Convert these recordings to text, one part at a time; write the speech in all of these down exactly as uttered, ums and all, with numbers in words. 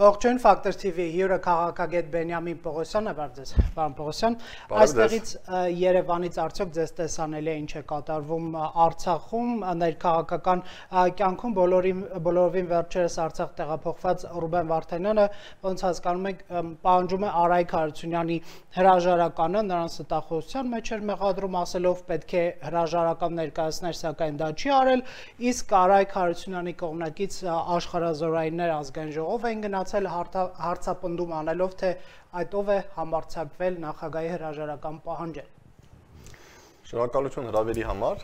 Ողջույն Ֆակտոր Թի Վի հյուրը քաղաքագետ Բենյամին Պողոսյանը, բարև ձեզ, պարոն Պողոսյան, այստեղից Երևանից արդյոք ձեզ տեսանելի է ինչ է կատարվում Արցախում, ներքաղաքական կյանքում բոլորովին վերջերս Արցախ տեղափոխված Ռուբեն Վարդանյանը, ոնց հասկանում եք, պահանջում է Արայք Հարությունյանի հրաժարականը, նրան ստախոսության մեջ էր մեղադրում, ասելով պետք է հրաժարական ներկայացներ, սակայն դա չի արել, իսկ Արայք Հարությունյանի կողմնակից աշխարհազորայիններ ազգային ժողով են գնացել հարցապնդում անելով, թե այդ ով է համարձակվել նախագահի հրաժարական պահանջել։ Շնորհակալություն հրավերի համար։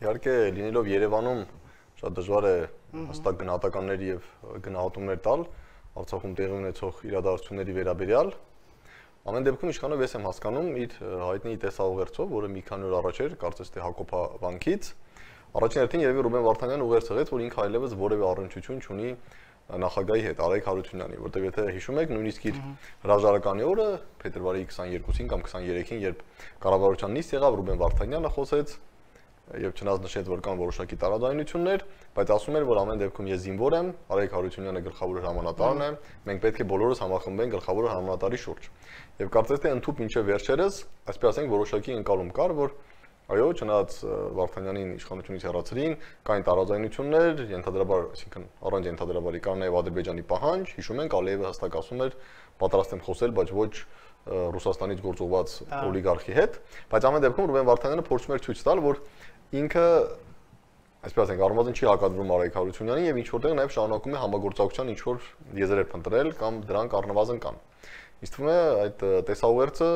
Իհարկե լինելով Երևանում շատ դժվար է հստակ գնահատականներ եւ գնահատումներ տալ Արցախում տեղի ունեցող իրադարձությունների վերաբերյալ։ Ամեն դեպքում իշխանով ես եմ հասկանում իր հայտնի տեսաուղերձով, որը մի քանի օր առաջ էր, կարծես թե Հակոբյանքից, առաջին հերթին երևի Ռուբեն Վարդանյանը ուղերձեց, որ ինքը այլևս որևէ առնչություն չունի նախագահի հետ, Արայք Հարությունյանի, որտեղ եթե հիշում եք, նույնիսկ իր հրաժարականի օրը, փետրվարի քսաներկուսին կամ քսաներեքին, երբ կառավարության նիստ եղավ, Ռուբեն Վարդանյանը խոսեց եւ չնայած նշեց, որ կան որոշակի տարաձայնություններ, բայց ասում էր, որ ամեն դեպքում ես զինվոր եմ, Արայք Հարությունյանը գլխավոր հրամանատարն է, մենք պետք է բոլորս համախմբենք գլխավոր հրամանատարի շուրջ։ Եվ կարծես թե ընդհուպ մինչև վերջերս, այսպես ասենք, որոշակի ընկալում կար, որ այո, չնայած Վարդանյանին իշխանությունից հեռացրին, կային տարաձայնություններ, ենթադրաբար, այսինքն առանց ենթադրաբարի կար նաև Ադրբեջանի պահանջ, հիշում ենք, Ալիևը հստակ ասում էր, պատրաստ եմ խոսել, բայց ոչ Ռուսաստանից գործողված օլիգարխի հետ, բայց ամեն դեպքում Ռուբեն Վարդանյանը փորձում էր ցույց տալ, որ ինքը, այսպես ասենք, առնվազն չի հակադրվում Արայք Հարությունյանին եւ ինչ որտեղ նաև շարունակում է համագործակցության ինչ որ եզրեր փնտրել կամ դրանք առնվազն կան։ Իսկ թվում է այդ տեսաուղերձը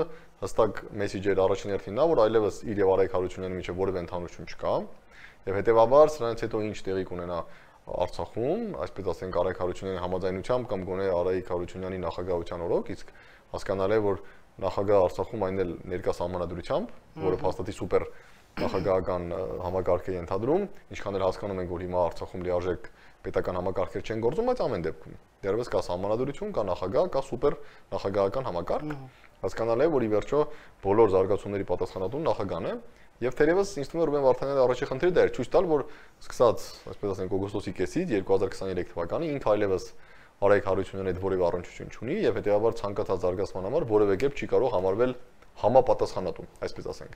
հստակ մեսեջ էր առաջին հերթին նա, որ այլևս իր եւ Արայք Հարությունյանի միջեւ որևէ ընդհանրություն չկա, եւ հետեւաբար սրանից հետո ինչ տեղի կունենա Արցախում, այսպես ասենք Արայք Հարությունյանի համաձայնությամբ կամ գոնե Արայք Հարությունյանի նախագահության օրոք, իսկ հասկանալի է, որ նախագահ Արցախում այն էլ ներկա սահմանադրությամբ, որը փաստաթի սուպեր նախագահական համակարգ է ենթադրում, ինչքան էլ հասկանում ենք, որ հիմա Արցախում լիարժեք պետական համակարգեր չեն գործում, բայց ամեն դեպքում դեռևս կա սահմանադրություն, կա նախագահ, կա սուպեր նախագահական համակարգ։ Հասկանալի է, որ ի վերջո բոլոր զարգացումների պատասխանատուն նախագահն է, եւ թերևս ինձ թվում է Ռուբեն Վարդանյանի առաջի խնդիրը դա էր ցույց տալ, որ սկսած, այսպես ասենք, օգոստոսի կեսից երկու հազար քսաներեք թվականի ինքը այլևս Արայք Հարությունյանի հետ որևէ առնչություն չունի եւ հետեւաբար ցանկացած զարգացման համար որևէ կերպ չի կարող համարվել համապատասխանատու, այսպես ասենք։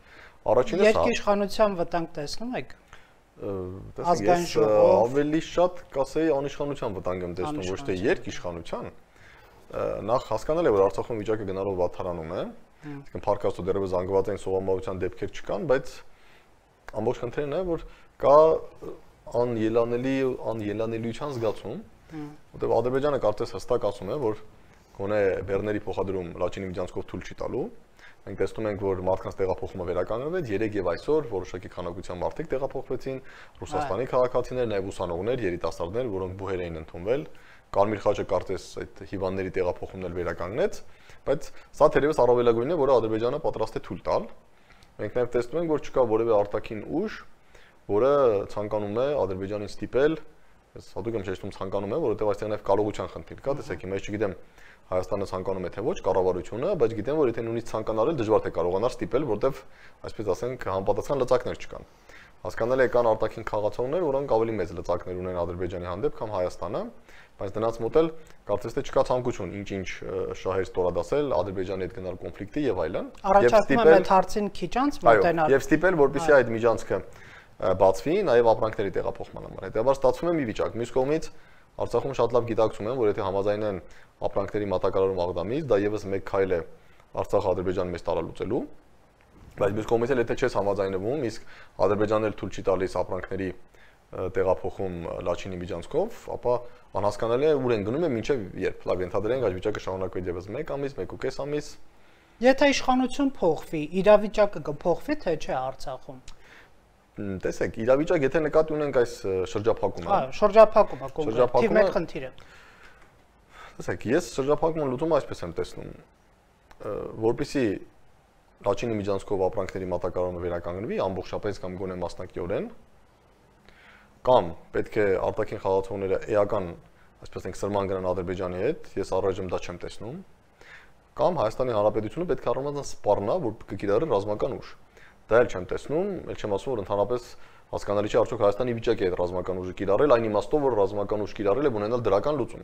Առաջինը սա երկիշխանության վտանգ տեսնում եք։ Ազգային ժողով ավելի շատ կասեի անիշխանության վտանգ եմ տեսնում, ոչ թե երկիշխանության։ Նախ հասկանալի է, որ Արցախում վիճակը գնալով վատթարանում է, այսինքն փառքաստու դեռևս զանգված են սովամահության դեպքեր չկան, բայց ամբողջ խնդիրն է, որ կա անելանելի անելանելիության զգացում, որտեղ Ադրբեջանը կարծես հստակ ասում է, որ գոնե բեռների փոխադրում Լաչինի միջանցքով թույլ չի տալու։ Մենք տեսնում ենք, որ մարդկանց տեղափոխումը վերականգնվեց, երեք եւ այսօր որոշակի քանակության մարդիկ տեղափոխվեցին, Ռուսաստանի քաղաքացիներ, նաեւ ուսանողներ, երիտասարդներ, որոնք բուհեր էին ընդունվել, Կարմիր խաչը կարծես այդ հիվանդների տեղափոխումն էլ վերականգնեց, բայց սա թերևս առավելագույնն է, որը Ադրբեջանը պատրաստ է թույլ տալ։ Մենք նաեւ տեսնում ենք, որ չկա որևէ արտաքին ուժ, որը ցանկանում է Ադրբեջանին ստիպել, ես հատուկ եմ շեշտում ցանկանում է, որովհետեւ այստեղ նաեւ կարողության խնդիր կա, տեսեք, հիմա ես չգիտեմ Հայաստանը ցանկանում է թե ոչ կառավարությունը, բայց գիտեմ, որ եթե նույնիսկ ցանկանալ դժվար թե կարողանար ստիպել, որտեվ այսպես ասենք համապատասխան լծակներ չկան։ Հասկանալի է կան արտաքին խաղացողներ, որոնք ավելի մեծ լծակներ ունեն Ադրբեջանի հանդեպ, քան Հայաստանը, բայց դրանց մոտ էլ կարծես թե չկա ցանկություն ինչ-ինչ շահեր ստորադասել Ադրբեջանի հետ գնալ կոնֆլիկտի եւ այլն։ Առաջարկում եմ այդ հարցին քիչ անց մոտենալ։ Եվ ստիպել, որպեսզի այդ միջանցքը բացվի նաեւ ապրանքների տեղափոխման համար։ Հետեւաբար ստացվում է մի վիճակ։ Մյուս կողմից Արցախում շատ լավ գիտակցում են, որ եթե համաձայնեն ապրանքների մատակարարում աղդամից, դա եւս մեկ քայլ է Արցախը Ադրբեջանի մեջ տարալուծելու, բայց մյուս կողմից էլ եթե չես համաձայնվում, իսկ Ադրբեջանն էլ թույլ չի տալիս ապրանքների տեղափոխում Լաչինի միջանցքով, ապա անհասկանալի է ուր են գնում է մինչև երբ։ Լավ ենթադրենք այդ վիճակը շարունակվի եւս մեկ ամիս, մեկ ու կես ամիս։ Եթե իշխանություն փոխվի, իրավիճակը կփոխվի թե չէ Արցախում։ Տեսեք, իրավիճակ եթե նկատի ունենք այս շրջափակումը։ Հա, շրջափակումը կոնկրետ մեր խնդիրը։ Տեսեք, ես շրջափակումը լուծումը այսպես եմ տեսնում, որպեսզի Լաչինի միջանցքով ապրանքների մատակարարումը վերականգնվի ամբողջապես կամ գոնե մասնակիորեն, կամ պետք է արտաքին խաղացողները էական, այսպես ասենք, սրման գնան Ադրբեջանի հետ, ես առայժմ դա չեմ տեսնում, կամ Հայաստանի Հանրապետությունը պետք է առնվազն սպառնա, որ կկիրառի ռազմական ուժ։ Դա էլ չեմ տեսնում, էլ չեմ ասում, որ ընդհանրապես հասկանալի չէ արդյոք Հայաստանի վիճակի է այդ ռազմական ուժը կիրառել, այն իմաստով, որ ռազմական ուժ կիրառել է ունենալ դրական լուծում։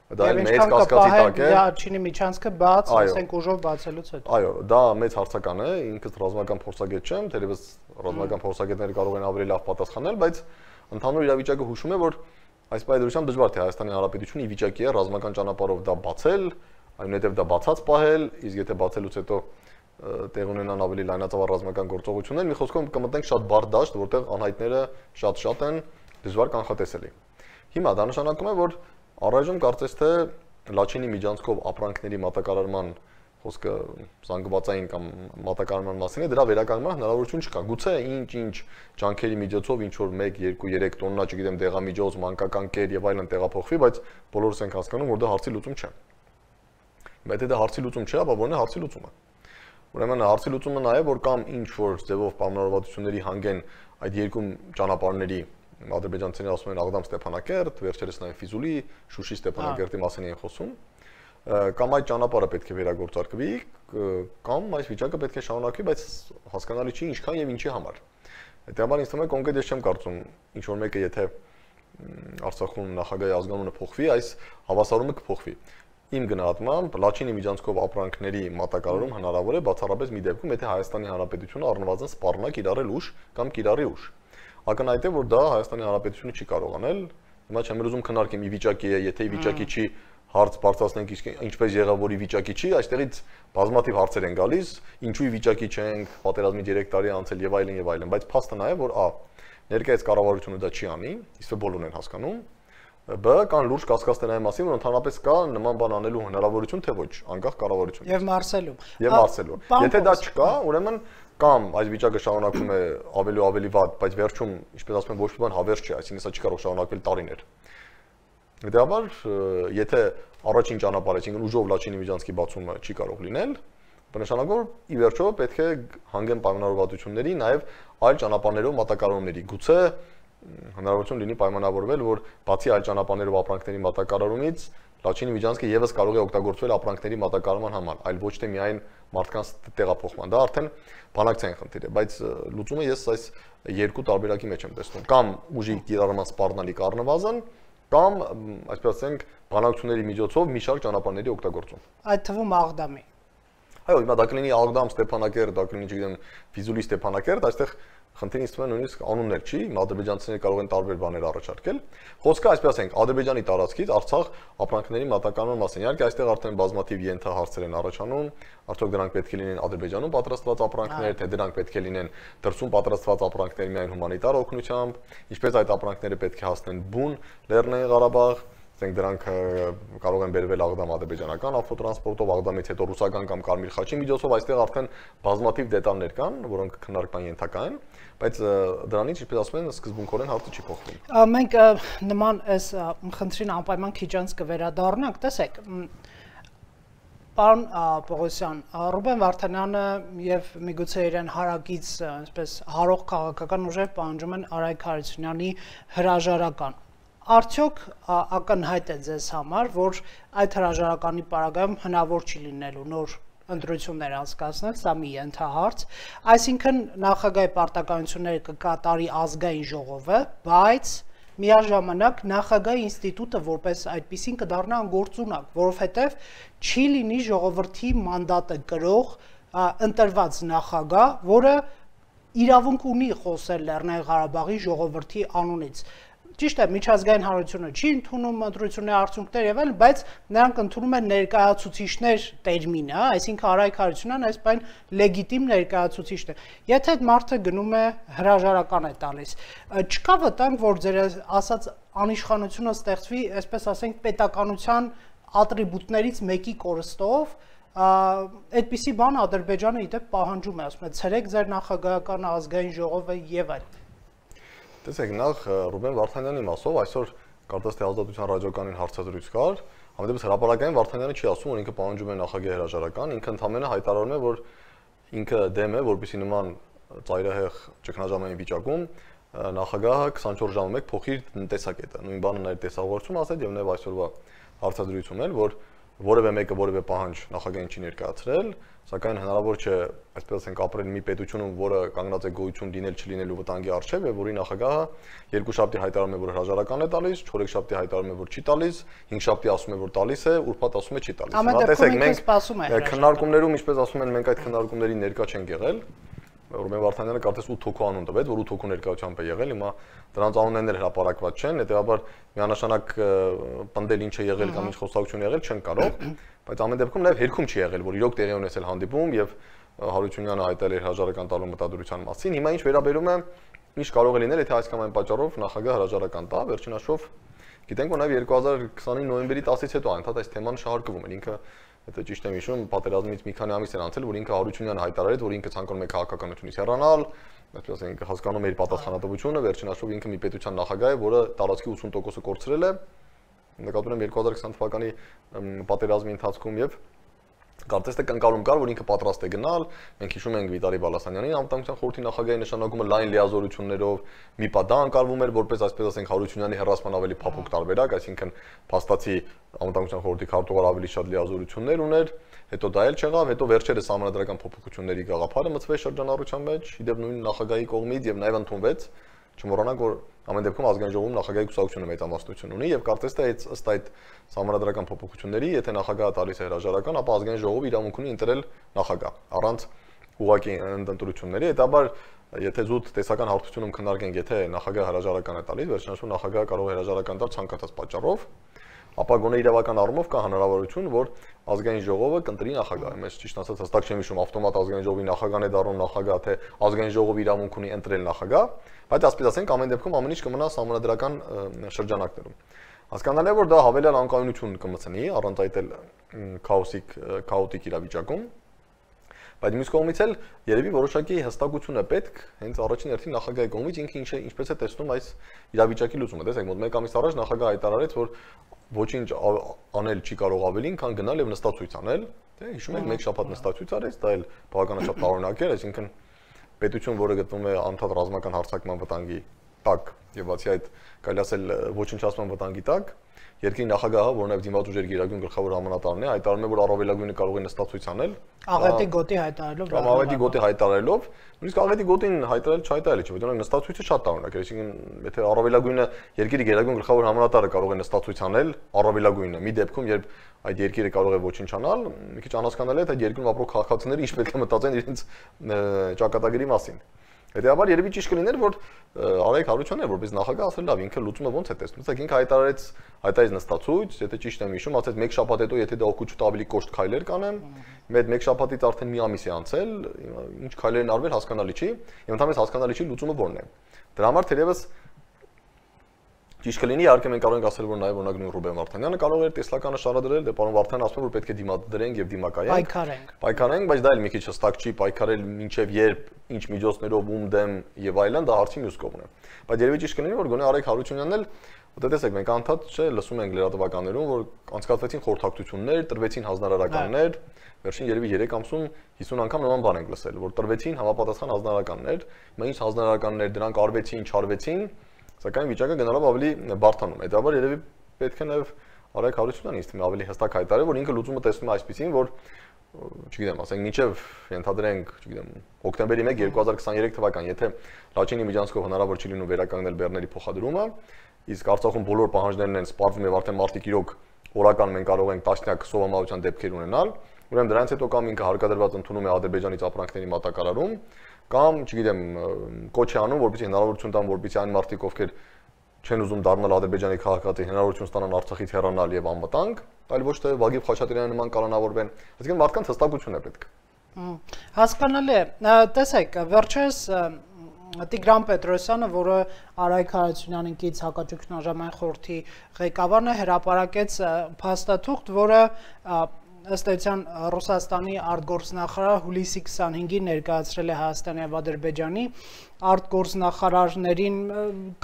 Դա էլ մեծ կասկածի տակ է։ Դա Չինի միջանցքը բաց, ասենք ուժով բացելուց հետո։ Այո, դա մեծ հարցական է, ինքս ռազմական փորձագետ չեմ, թերևս ռազմական փորձագետները կարող են ավելի լավ պատասխանել, բայց ընդհանուր իրավիճակը հուշում է, որ այս պայմանությամբ դժվար թե Հայաստանի Հանրապետությունը ի վիճակի է ռազմական ճանապարհով դա բացել, այնուհետև դա բացած պահել, իսկ եթե բացելուց հետո տեղ ունենան ավելի լայնածավալ ռազմական գործողություններ, մի խոսքով կմտնենք շատ բարդ դաշտ, որտեղ անհայտները շատ-շատ են, դժվար կանխատեսելի։ Հիմա դա նշանակում է, որ առայժմ կարծես թե Լաչինի միջանցքով ապրանքների մատակարարման խոսքը զանգվածային կամ մատակարարման մասին է, դրա վերականգնման հնարավորություն չկա։ Գուցե ինչ-ինչ ջանքերի միջոցով ինչ որ մեկ, երկու, երեք տոննա, չգիտեմ, դեղամիջոց, մանկական կեր եւ այլն տեղափոխվի, բայց բոլորս ենք հասկանում, որ դա հարցի լուծում չէ։ Եթե դա հարցի լուծում չէ, ապա ո՞րն է հարցի լուծումը։ Ուրեմն հարցի լուծումը նա է, որ կամ ինչ որ ձևով պայմանավորվածությունների հանգեն այդ երկու ճանապարհների ադրբեջանցիները ասում են Աղդամ Ստեփանակերտ, վերջերս նաև Ֆիզուլի, Շուշի Ստեփանակերտի մասին են խոսում, կամ այդ ճանապարհը պետք է վերագործարկվի, կամ այս վիճակը պետք է շարունակվի, բայց հասկանալի չի ինչքան եւ ինչի համար։ Հետեւաբար ինձ թվում է կոնկրետ ես չեմ կարծում ինչ որ մեկը եթե Արցախում նախագահի ազգանունը փոխվի, այս հավասարումը կփոխվի։ Իմ գնահատմամբ Լաչինի միջանցքով ապրանքների մատակարարում հնարավոր է բացառապես մի դեպքում, եթե Հայաստանի Հանրապետությունը առնվազն սպառնա կիրառել ուժ կամ կիրառի ուժ։ Ակնհայտ է, որ դա Հայաստանի Հանրապետությունը չի կարող անել։ Հիմա չեմ ուզում քննարկեմ ի վիճակի է, եթե ի վիճակի չի, հարց բարձրացնենք ինչպես եղավ, որ ի վիճակի չի, այստեղից բազմաթիվ հարցեր են գալիս, ինչու ի վիճակի չենք, պատերազմի երեք տարի անցել եւ այլն եւ այլն, բայց փաստը նա է, որ ա ներկայիս կառավարությունը դա չի անի, իսկ բոլորն են հասկանում, բ կան լուրջ կասկածներ այն մասին, որ ընդհանրապես կա նման բան անելու հնարավորություն, թե ոչ, անկախ կառավարությունից։ Եվ մարսելու։ Եվ մարսելու։ Եթե դա չկա, ուրեմն կամ այս վիճակը շարունակվում է ավելի ու ավելի վատ, բայց վերջում, ինչպես ասում են, ոչ մի բան հավերժ չի, այսինքն սա չի կարող շարունակվել տարիներ։ Հետեւաբար, եթե առաջին ճանապարհը, այսինքն ուժով Լաչինի միջանցքի բացումը չի կարող լինել, բնականաբար ի վերջո պետք է հանգեն պայմանավորվածությունների, նաև այլ ճանապարհներով մատակարարումների։ Գուցե հնարավորություն լինի պայմանավորվել, որ բացի այլ ճանապարհներով ապրանքների մատակարարումից Լաչինի միջանցքը եւս կարող է օգտագործվել ապրանքների մատակարարման համար, այլ ոչ թե միայն մարդկանց տեղափոխման։ Դա արդեն բանակցային խնդիր է, բայց լուծումը ես այս երկու տարբերակի մեջ եմ տեսնում։ Կամ ուժի կիրառման սպառնալիք առնվազն, կամ այսպես ասենք բանակցությունների միջոցով մի շարք ճանապարհների օգտագործում։ Այդ թվում Աղդամի։ Այո, հիմա դա կլինի Աղդամ, Ստեփանակերտ, դա կլինի, չգիտեմ, Ֆիզուլի Ստեփանակերտ, այստեղ խնդիրը ինձ թվում է նույնիսկ անուններ չի, ադրբեջանցիները կարող են տարբեր բաներ առաջարկել։ Խոսքը այսպես ասենք, Ադրբեջանի տարածքից Արցախ ապրանքների մատակարարման մասին։ Իհարկե, այստեղ արդեն բազմաթիվ ենթահարցեր են առաջանում, արդյոք դրանք պետք է լինեն Ադրբեջանում պատրաստված ապրանքներ, թե դրանք պետք է լինեն դրսում պատրաստված ապրանքներ միայն հումանիտար օգնությամբ, ինչպես այդ ապրանքները պետք է հասնեն բուն Լեռնային Ղարաբաղ, ասենք դրանք կարող են բերվել Աղդամ ադրբեջանական ավտոտրանսպորտով, Աղդամից հետո ռուսական կամ Կարմիր խաչի միջոցով, այստեղ արդեն բազմաթիվ դետալներ կան, որոնք քննարկման ենթակա են, բայց դրանից, ինչպես ասում են, սկզբունքորեն հարցը չի փոխվում։ Մենք նման այս խնդրին անպայման քիչ անց կվերադառնանք, տեսեք, պարոն Պողոսյան, Ռուբեն Վարդանյանը եւ միգուցե իրեն հարակից, այսպես հարող քաղաքական ուժեր պահանջում են Արայք Հարությունյանի հրաժարական։ Արդյոք ակնհայտ է ձեզ համար, որ այդ հրաժարականի պարագայում հնարավոր չի լինելու նոր ընտրություններ անցկացնել, սա մի ենթահարց, այսինքն նախագահի պարտականությունները կկատարի ազգային ժողովը, բայց միաժամանակ նախագահի ինստիտուտը որպես այդպիսին կդառնա անգործունակ, որովհետև չի լինի ժողովրդի մանդատը կրող ընտրված նախագահ, որը իրավունք ունի խոսել Լեռնային Ղարաբաղի ժողովրդի անունից։ Ճիշտ է, միջազգային հանրությունը չի ընդունում ընտրությունների արդյունքներ եւ այլն, բայց նրանք ընդունում են ներկայացուցիչներ տերմինը, այսինքն Արայք Հարությունյանն այս բան լեգիտիմ ներկայացուցիչն է։ Եթե այդ մարդը գնում է հրաժարական է տալիս, չկա վտանգ, որ ձեր ասած անիշխանությունը ստեղծվի, այսպես ասենք, պետականության ատրիբուտներից մեկի կորստով, այդպիսի բան Ադրբեջանը իդեպ պահանջում է, ասում է, ցրեք ձեր նախագահական ազգային ժողովը եւ այլն։ Տեսեք, նախ Ռուբեն Վարդանյանի մասով այսօր կարծես թե Ազատության ռադիոկանին հարցազրույց կար, համենայնպես հրապարակային Վարդանյանը չի ասում, որ ինքը պահանջում է նախագահի հրաժարական, ինքը ընդհանրապես հայտարարում է, որ ինքը դեմ է, որպեսզի նման ծայրահեղ ճգնաժամային վիճակում նախագահը քսանչորս ժամը մեկ փոխի տեսակետը։ Նույն բանը նա իր տեսահաղորդում ասել եւ նաեւ այսօրվա հարցազրույցում էլ, որ որևէ մեկը որևէ պահանջ նախագահին չի ներկայացրել, սակայն հնարավոր չէ, այսպես ասենք, ապրել մի պետությունում, որը կանգնած է գոյություն լինել չլինելու վտանգի առջև, եւ որի նախագահը երկուշաբթի հայտարարում է, որ հրաժարական է տալիս, չորեքշաբթի հայտարարում է, որ չի տալիս, հինգշաբթի ասում է, որ տալիս է, ուրբաթ ասում է չի տալիս։ Հիմա տեսեք, մենք քննարկումներում, ինչպես ասում են, մենք այդ քննարկումների ներկա չենք եղել։ Ռուբեն Վարդանյանը կարծես ութ հոգու անուն տվեց, որ ութ հոգու ներկայությամբ է եղել, հիմա դրանց անուններն էլ հրապարակված չեն, հետեւաբար միանշանակ պնդել ինչ է եղել կամ ինչ խոսակցություն եղել չեն կարող, բայց ամեն դեպքում նաև հերքում չի եղել, որ իրոք տեղի ունեցել հանդիպում եւ Հարությունյանը հայտարարել էր հրաժարական տալու մտադրության մասին։ Հիմա ինչ վերաբերում է ինչ կարող է լինել, եթե այս կամ այն պատճառով նախագահ հրաժարական տա, վերջին հաշվով գիտենք, որ նաև երկու հազար քսանինը նոյեմբերի տասից հետո անդադ այս թեման շահարկվում էր, ինքը Եթե ճիշտ եմ հիշում, պատերազմից մի քանի ամիս էր անցել, որ ինքը Հարությունյանը հայտարարեց, որ ինքը ցանկանում է քաղաքականությունից հեռանալ, այսպես ասենք, հասկանում է իր պատասխանատվությունը, վերջին հաշվով ինքը մի պետության նախագահ է, որը տարածքի ութսուն տոկոսը կորցրել է, նկատում եմ երկու հազար քսան թվականի պատերազմի ընթացքում եւ Կարծես թե կնկալում կար, որ ինքը պատրաստ է գնալ, մենք հիշում ենք Վիտալի Բալասանյանի անվտանգության խորհրդի նախագահի նշանակումը լայն լիազորություններով, մի պա դա անկալվում էր որպես այսպես ասենք Հարությունյանի հեռացման ավելի փափուկ տարբերակ, այսինքն փաստացի անվտանգության խորհրդի քարտուղար ավելի շատ լիազորություններ ուներ, հետո դա էլ չեղավ, հետո վերջերս համանդրական փոփոխությունների գաղափարը մտցվեց շրջանառության մեջ, իդեպ նույն նախագահի կողմից եւ նաեւ ընդունվեց, չմոռանանք, որ ամեն դեպքում ազգային ժողովում նախագահի կուսակցությունը մեծամասնություն ունի եւ կարծես թե ըստ այդ համանդրական փոփոխությունների, եթե նախագահը տալիս է հրաժարական, ապա ազգային ժողովը իրավունք ունի ընտրել նախագահ առանց ուղղակի ընտրությունների, հետաբար եթե զուտ տեսական հարթությունում քննարկենք, եթե նախագահը հրաժարական է տալիս, վերջնաշուտ նախագահը կարող է հրաժարական տալ ցանկացած պատճառով, ապա գոնե իրավական առումով կա հնարավորություն, որ ազգային ժողովը կընտրի նախագահ։ Ես ճիշտ ասած հստակ չեմ հիշում ավտոմատ ազգային ժողովի նախագահն է դառնում նախագահ, թե ազգային ժողովը իրավունք ունի ընտրել նախագահ, բայց ասես ասենք ամեն դեպքում ամեն ինչ կմնա համանդրական շրջանակներում։ Հասկանալի է, որ դա հավելյալ անկայունություն կմցնի, առանց այդ էլ քաոսիկ քաոտիկ իրավիճակում։ Բայց մյուս կողմից էլ երևի որոշակի հստակություն է պետք հենց առաջին հերթին նախագահի կողմից ինքը ինչ է ինչպես է տեսնում այս իրավիճակի լուծումը։ Տեսեք, մոտ մեկ ամիս առաջ նախագահը հայտարարեց, որ ոչինչ անել չի կարող ավելին, քան գնալ եւ նստածույց անել։ Դե հիշում եք, մեկ շաբաթ նստածույց արեց, դա էլ բավականաչափ տարօրինակ էր, այսինքն պետություն, որը գտնվում է անդադ ռազմական հարձակման վտանգի տակ եւ բացի այդ կարելի ասել ոչնչացման վտանգի տակ, երկրի նախագահը, որ նաև դիմաց ուժերի գերագույն գլխավոր հրամանատարն է, հայտարարում է, որ առավելագույնը կարող է նստածույց անել։ Աղետի գոտի հայտարարելով։ Կամ աղետի գոտի հայտարարելով, նույնիսկ աղետի գոտին հայտարարել չհայտարարել չի, որովհետեւ նստածույցը շատ տարօրինակ է, այսինքն եթե առավելագույնը երկրի գերագույն գլխավոր հրամանատարը կարող է նստածույց անել, առավելագույնը, մի դեպքում, երբ այդ երկիրը կարող է ոչնչանալ, մի քիչ անհասկանալի է, թե երկրում ապրող քաղաքացիները ինչ պետք է մտածեն իրենց ճակատագրի մասին։ Հետեւաբար երևի ճիշտ կլիներ, որ Արայք Հարությունյանը որպես նախագահ ասել լավ, ինքը լուծումը ոնց է տեսնում։ Իսկ ինքը հայտարարեց, հայտարարեց նստածույց, եթե ճիշտ եմ հիշում, ասեց մեկ շաբաթ հետո եթե դա օգուտ ավելի կոշտ քայլեր կանեմ, մեր մեկ շաբաթից արդեն մի ամիս է անցել, ինչ քայլեր են արվել հասկանալի չի, եւ ընդհանրապես հասկանալի չի լուծումը որն է։ Դրա համար թերևս ճիշտ կլինի, իհարկե մենք կարող ենք ասել, որ նաև օրինակ նույն Ռուբեն Վարդանյանը կարող էր տեսլականը շարադրել, դե պարոն Վարդանյանը ասում է, որ պետք է դիմադրենք եւ դիմակայենք։ Պայքարենք։ Պայքարենք, բայց դա էլ մի քիչ հստակ չի, պայքարել մինչեւ երբ, ինչ միջոցներով, ում դեմ եւ այլն, դա հարցի մյուս կողմն է։ Բայց երևի ճիշտ կլինի, որ գոնե Արայք Հարությունյանն էլ, դե տեսեք, մենք անդադ չէ, լսում ենք լրատվականներում, որ անցկացվեցին խորհրդակցություններ, տրվեցին հանձնարարականներ, վերջին երևի երեք ամսում հիսուն անգամ նման բան ենք լսել, որ տրվեցին համապատասխան հանձնարարականներ, մենք ինչ հանձնարարականներ դրանք արվեցին, չարվեցին, սակայն վիճակը գնալով ավելի բարթանում է։ Դաբար երևի պետք է նաև Արայք Հարությունյանն ինձ թվում է ավելի հստակ հայտարարել, որ ինքը լուծումը տեսնում է այսպեսին, որ չգիտեմ, ասենք մինչև ենթադրենք, չգիտեմ, հոկտեմբերի մեկ երկու հազար քսաներեք թվական, եթե Լաչինի միջանցքով հնարավոր չի լինում վերականգնել բեռների փոխադրումը, իսկ Արցախում բոլոր պահանջներն են սպառվում եւ արդեն մարտիկ իրոք օրական մենք կարող ենք տասնյակ սովամահության դեպքեր ունենալ, ուրեմն դրանից հետո կամ ինքը հարկադրված ընդունում է Ադրբեջանից ապրանքների մատակարարում, կամ, չգիտեմ, կոչ է անում, որպեսզի հնարավորություն տան, որպեսզի այն մարդիկ, ովքեր չեն ուզում դառնալ Ադրբեջանի քաղաքացի, հնարավորություն ստանան Արցախից հեռանալ եւ անվտանգ, այլ ոչ թե Վագիվ Խաչատրյանի նման կանոնավորվեն, այսինքն մարդկանց հստակություն է պետք։ Հասկանալի է։ Տեսեք, վերջերս Տիգրան Պետրոսյանը, որը Արայք Հարությունյանին կից հակաճգնաժամային ժամային խորհրդի ղեկավարն է, հրապարակեց փաստաթուղթ, որը ըստ էության Ռուսաստանի արտգործնախարար հուլիսի քսանհինգին ներկայացրել է Հայաստանի եւ Ադրբեջանի արտգործնախարարներին,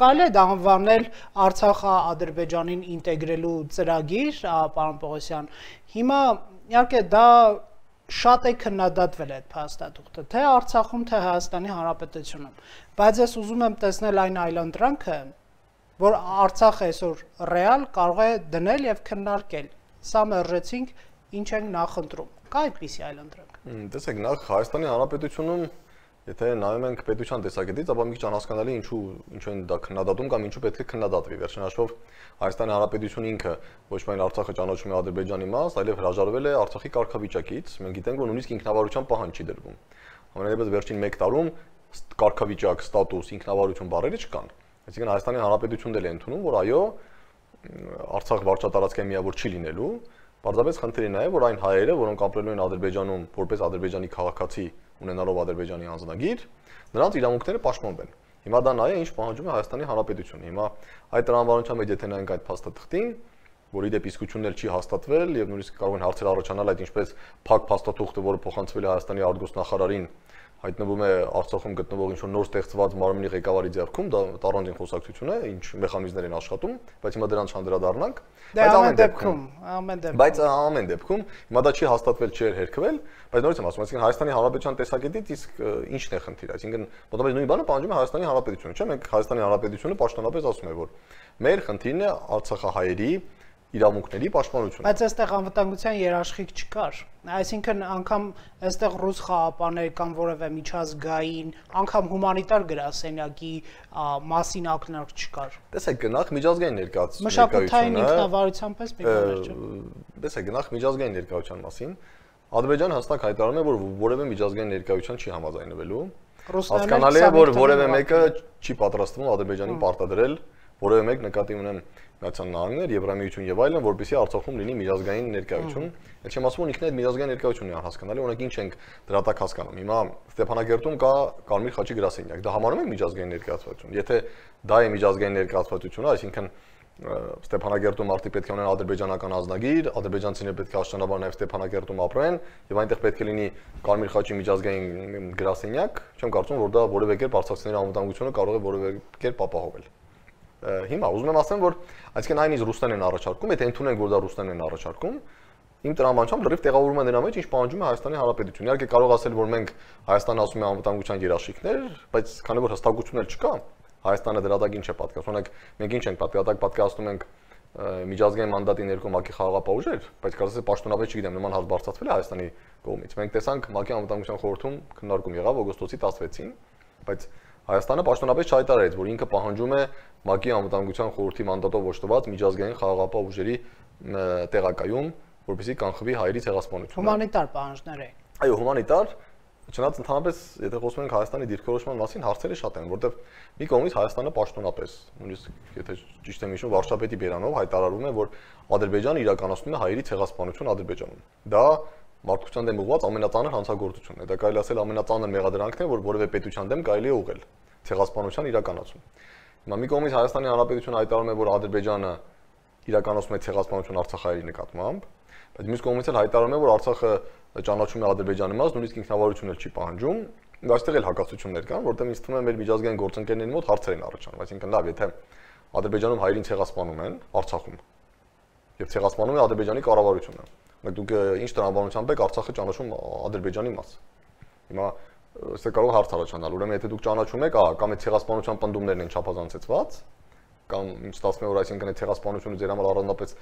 կարելի է դա անվանել Արցախը Ադրբեջանին ինտեգրելու ծրագիր, պարոն Պողոսյան։ Հիմա իհարկե դա շատ է քննադատվել այդ փաստաթուղթը, թե Արցախում, թե Հայաստանի Հանրապետությունում, բայց ես ուզում եմ տեսնել այն այլընտրանքը, որ Արցախը այսօր ռեալ կարող է դնել եւ քննարկել սա մերժեցինք, ինչ ենք նախընտրում։ Կա այդպիսի այլընտրանք։ Տեսեք, նախ Հայաստանի Հանրապետությունում եթե նայում ենք պետության տեսակետից, ապա մի քիչ անհասկանալի ինչու ինչու են դա քննադատում կամ ինչու պետք է քննադատվի։ Վերջին հաշվով Հայաստանի Հանրապետությունը ինքը ոչ միայն Արցախը ճանաչում է Ադրբեջանի մաս, այլև հրաժարվել է Արցախի կարգավիճակից։ Մենք գիտենք, որ նույնիսկ ինքնավարության պահանջ չի դրվում։ Ամենայնիվս վերջին մեկ տարում կարգավիճակ, ստատուս, ինքնավարություն բառերը չկան։ Այսինքն Հայաստանի Հանրապետությունն էլ է ընդունում, որ այո, Արցախ վարչատարածքային միավոր չի լինելու, պարզապես խնդիրն է, որ այն հայերը, որոնք ապրելու են Ադրբեջանում որպես ադրբեջանի քաղաքացի ունենալով Ադրբեջանի անձնագիր, նրանց իրավունքները պաշտպանվեն։ Հիմա դա նա է, ինչ պահանջում է Հայաստանի Հանրապետությունը։ Հիմա այդ տրամաբանության մեջ եթե նայենք այդ փաստաթղթին, որի դեպ իսկությունն էլ չի հաստատվել եւ նույնիսկ կարող են հարցեր առաջանալ այդ ինչպես փակ փաստաթուղթը, որը փոխանցվել է Հայաստանի արտգործնախարարին, հայտնվում է Արցախում գտնվող ինչ-որ նոր ստեղծված մարմնի ղեկավարի ձեռքում, դա առանձին խոսակցություն է, ինչ մեխանիզմներ են աշխատում, բայց հիմա դրանց չանդրադառնանք, բայց ամեն դեպքում, ամեն դեպքում, բայց ամեն դեպքում հիմա դա չի հաստատվել, չի հերքվել, բայց նորից եմ ասում, այսինքն Հայաստանի Հանրապետության տեսակետից իսկ ինչն է խնդիրը, այսինքն մոտավորապես նույն բանը պահանջում է Հայաստանի Հանրապետությունը, չէ՞, մենք Հայաստանի Հանրապետությունը պաշտոնապես ասում է, որ մեր խնդիրն է արցախահայերի իրավունքների պաշտպանությունը։ Բայց այստեղ անվտանգության երաշխիք չկար։ Այսինքն անգամ այստեղ ռուս խաղապաներ կամ որևէ միջազգային, անգամ հումանիտար գրասենյակի մասին ակնարկ չկար։ Տեսեք, նախ միջազգային ներկայացում մշակութային ինքնավարության պես մի բան չէ։ Տեսեք, նախ միջազգային ներկայության մասին Ադրբեջանը հստակ հայտարարում է, որ որևէ միջազգային ներկայության չի համաձայնվելու։ Հասկանալի է, որ որևէ մեկը չի պատրաստվում Ադրբեջանին պարտադրել, որևէ մեկ նկատի ունեմ Միացյալ Նահանգներ, Եվրամիություն եւ այլն, որպեսզի Արցախում լինի միջազգային ներկայություն։ Էլ չեմ ասում, որ ինքն այդ միջազգային ներկայությունն է անհասկանալի, օրինակ ինչ ենք դրա տակ հասկանում։ Հիմա Ստեփանագերտում կա Կարմիր խաչի գրասենյակ, դա համարում ենք միջազգային ներկայացություն։ Եթե դա է միջազգային ներկայացությունը, այսինքն Ստեփանագերտում արդի պետք է ունեն ադրբեջանական ազնագիր, ադրբեջանցիները պետք է աշնանաբար նաև Ստեփանագերտում ապրեն եւ այնտեղ պետք է լինի Կարմիր խաչի միջազգային գրասենյակ, չեմ կարծում, որ դա որևէ կերպ արցախցիների անվտանգությունը կարող է որևէ կերպ ապահովել։ Հիմա ուզում եմ ասեմ, որ այսինքն այն իսկ ռուսներն են առաջարկում, եթե ընդունենք, որ դա ռուսներն են առաջարկում, իմ տրամաբանությամբ լրիվ տեղավորվում է նրա մեջ, ինչ պահանջում է Հայաստանի Հանրապետությունը։ Իհարկե կարող ասել, որ մենք Հայաստանը ասում է անվտանգության երաշխիքներ, բայց քանի որ հստակություն էլ չկա, Հայաստանը դրա տակ ինչ է պատկասում։ Օրինակ մենք ինչ ենք պատկասում, պատկասում ենք միջազգային մանդատի ներքո ՄԱԿ-ի խաղաղապահ ուժեր, բայց կարծես թե պաշտոնապես չգիտեմ, նման հարց բարձրացվել է Հայաստանի կողմից։ Մենք տեսանք ՄԱԿ-ի անվտանգության խորհրդում քննարկում եղավ օգոստոսի տասնվեցին, բայց Հայաստանը պաշտոնապես չհայտարարեց, որ ինքը պահանջում է ՄԱԿ-ի անվտանգության խորհրդի մանդատով ոչտված միջազգային խաղաղապահ ուժերի տեղակայում, որպեսզի կանխվի հայերի ցեղասպանությունը։ Հումանիտար պահանջներ է։ Այո, հումանիտար, չնայած ընդհանրապես, եթե խոսում ենք Հայաստանի դիրքորոշման մասին, հարցերը շատ են, որտեղ մի կողմից Հայաստանը պաշտոնապես, նույնիսկ եթե ճիշտ եմ հիշում, վարչապետի բերանով հայտարարում է, որ Ադրբեջանը իրականացնում է հայերի ցեղասպանություն Ադրբեջանում։ Դա մարդկության դեմ ուղղված ամենածանր հանցագործությունն է։ Դա կարելի ասել ամենածանր մեղադրանքն է, որ որևէ պետության դեմ կարելի է ուղղել ցեղասպանության իրականացում։ Հիմա մի կողմից Հայաստանի Հանրապետությունը հայտարարում է, որ Ադրբեջանը իրականացնում է ցեղասպանություն արցախահայերի նկատմամբ, բայց մյուս կողմից էլ հայտարարում է, որ Արցախը ճանաչում է Ադրբեջանի մաս, նույնիսկ ինքնավարություն էլ չի պահանջում։ Այստեղ էլ հակասություններ կան, որտեղ ինձ թվում է մեր միջազգային գործընկերների մոտ հարցեր են առաջանում, այսինքն լավ, եթե Ադրբեջանում հայերին ցեղասպանում են Արցախում եւ ցեղասպանում է Ադրբեջանի կառավարությունը, բայց դուք ինչ տրամաբանությամբ եք Արցախը ճանաչում Ադրբեջանի մաս։ Հիմա սա կարող հարց առաջանալ, ուրեմն եթե դուք ճանաչում եք, ահա, կամ այդ ցեղասպանության պնդումներն են չափազանցեցված, կամ ինչ ստացվում է, որ այսինքն այդ ցեղասպանությունը ձեր համար առանձնապես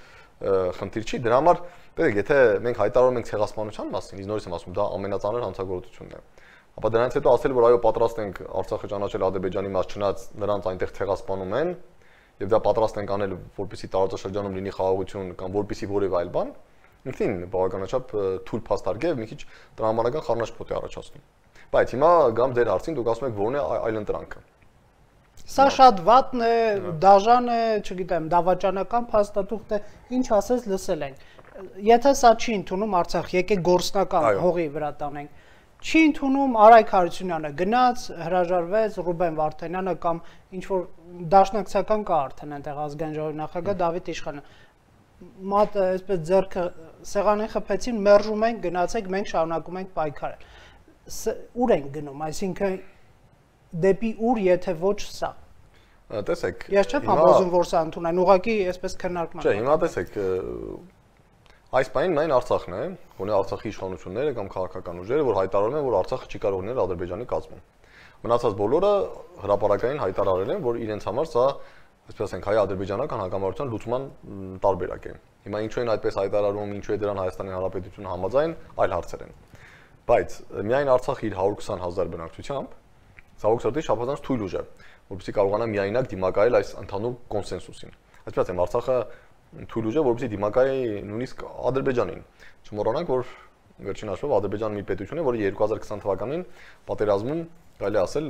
խնդիր չի, դրա համար, տեսեք, եթե մենք հայտարարում ենք ցեղասպանության մասին, իսկ նորից եմ ասում, դա ամենածանր հանցագործությունն է։ Ապա դրանից հետո ասել, որ այո, պատրաստ ենք Արցախը ճանաչել Ադրբեջանի մաս, չնայած նրանց այնտեղ ցեղասպանում են, եւ դա պատրաստ ենք անել, որպեսզի տարածաշրջանում լինի խաղաղություն կամ որպեսզի որևէ այլ բան, ինքնին բավականաչափ թույլ փաստարգ է, մի քիչ տրամաբանական խառնաշփոթ է առաջացնում։ Բայց հիմա գամ ձեր հարցին, դուք ասում եք, որն է այլընտրանքը։ Սա շատ վատն է, դաժան է, չգիտեմ, դավաճանական փաստաթուղթ է, ինչ ասես լսել ենք։ Եթե սա չի ընդունում Արցախ, եկեք գործնական հողի վրա տանենք։ Չի ընդունում Արայք Հարությունյանը գնաց, հրաժարվեց, Ռուբեն Վարդանյանը կամ ինչ որ դաշնակցական կա արդեն այնտեղ ազգային ժողովի նախագահ Դավիթ Իշխանը։ Մատը այսպես ձեռքը սեղանին խփեցին, մերժում ենք, գնացեք, մենք շարունակում ենք պայքարել։ Ուր ենք գնում, այսինքն դեպի ուր, եթե ոչ սա։ Տեսեք, ես չեմ համոզում, որ սա ընդունեն, ուղղակի այսպես քննարկման։ Չէ, հիմա տեսեք, այս բանին միայն Արցախն է, ունի Արցախի իշխանությունները կամ քաղաքական ուժերը, որ հայտարարում են, որ Արցախը չի կարող լինել Ադրբեջանի կազմում։ Մնացած բոլորը հրապարակային հայտարարել են, որ իրենց համար սա այսպես ասենք, հայ-ադրբեջանական հակամարտության լուծման տարբերակ է։ Հիմա ինչու են այդպես հայտարարում, ինչու է դրան Հայաստանի Հանրապետությունը համաձայն, այլ հարցեր են։ Բայց միայն Արցախը իր հարյուր քսան հազար բնակչությամբ ցավոք սրտի շփոթված թույլ ուժ է, որովհետեւ կարողանա միայնակ դիմակայել այս ընդհանուր կոնսենսուսին։ Այսպես ասեմ, Արցախը թույլ ուժ է, որովհետեւ դիմակայի նույնիսկ Ադրբեջանին։ Չմոռանանք, որ վերջին հաշվով Ադրբեջանը մի պետություն է, որը երկու հազար քսան թվականին պատերազմում կարելի ասել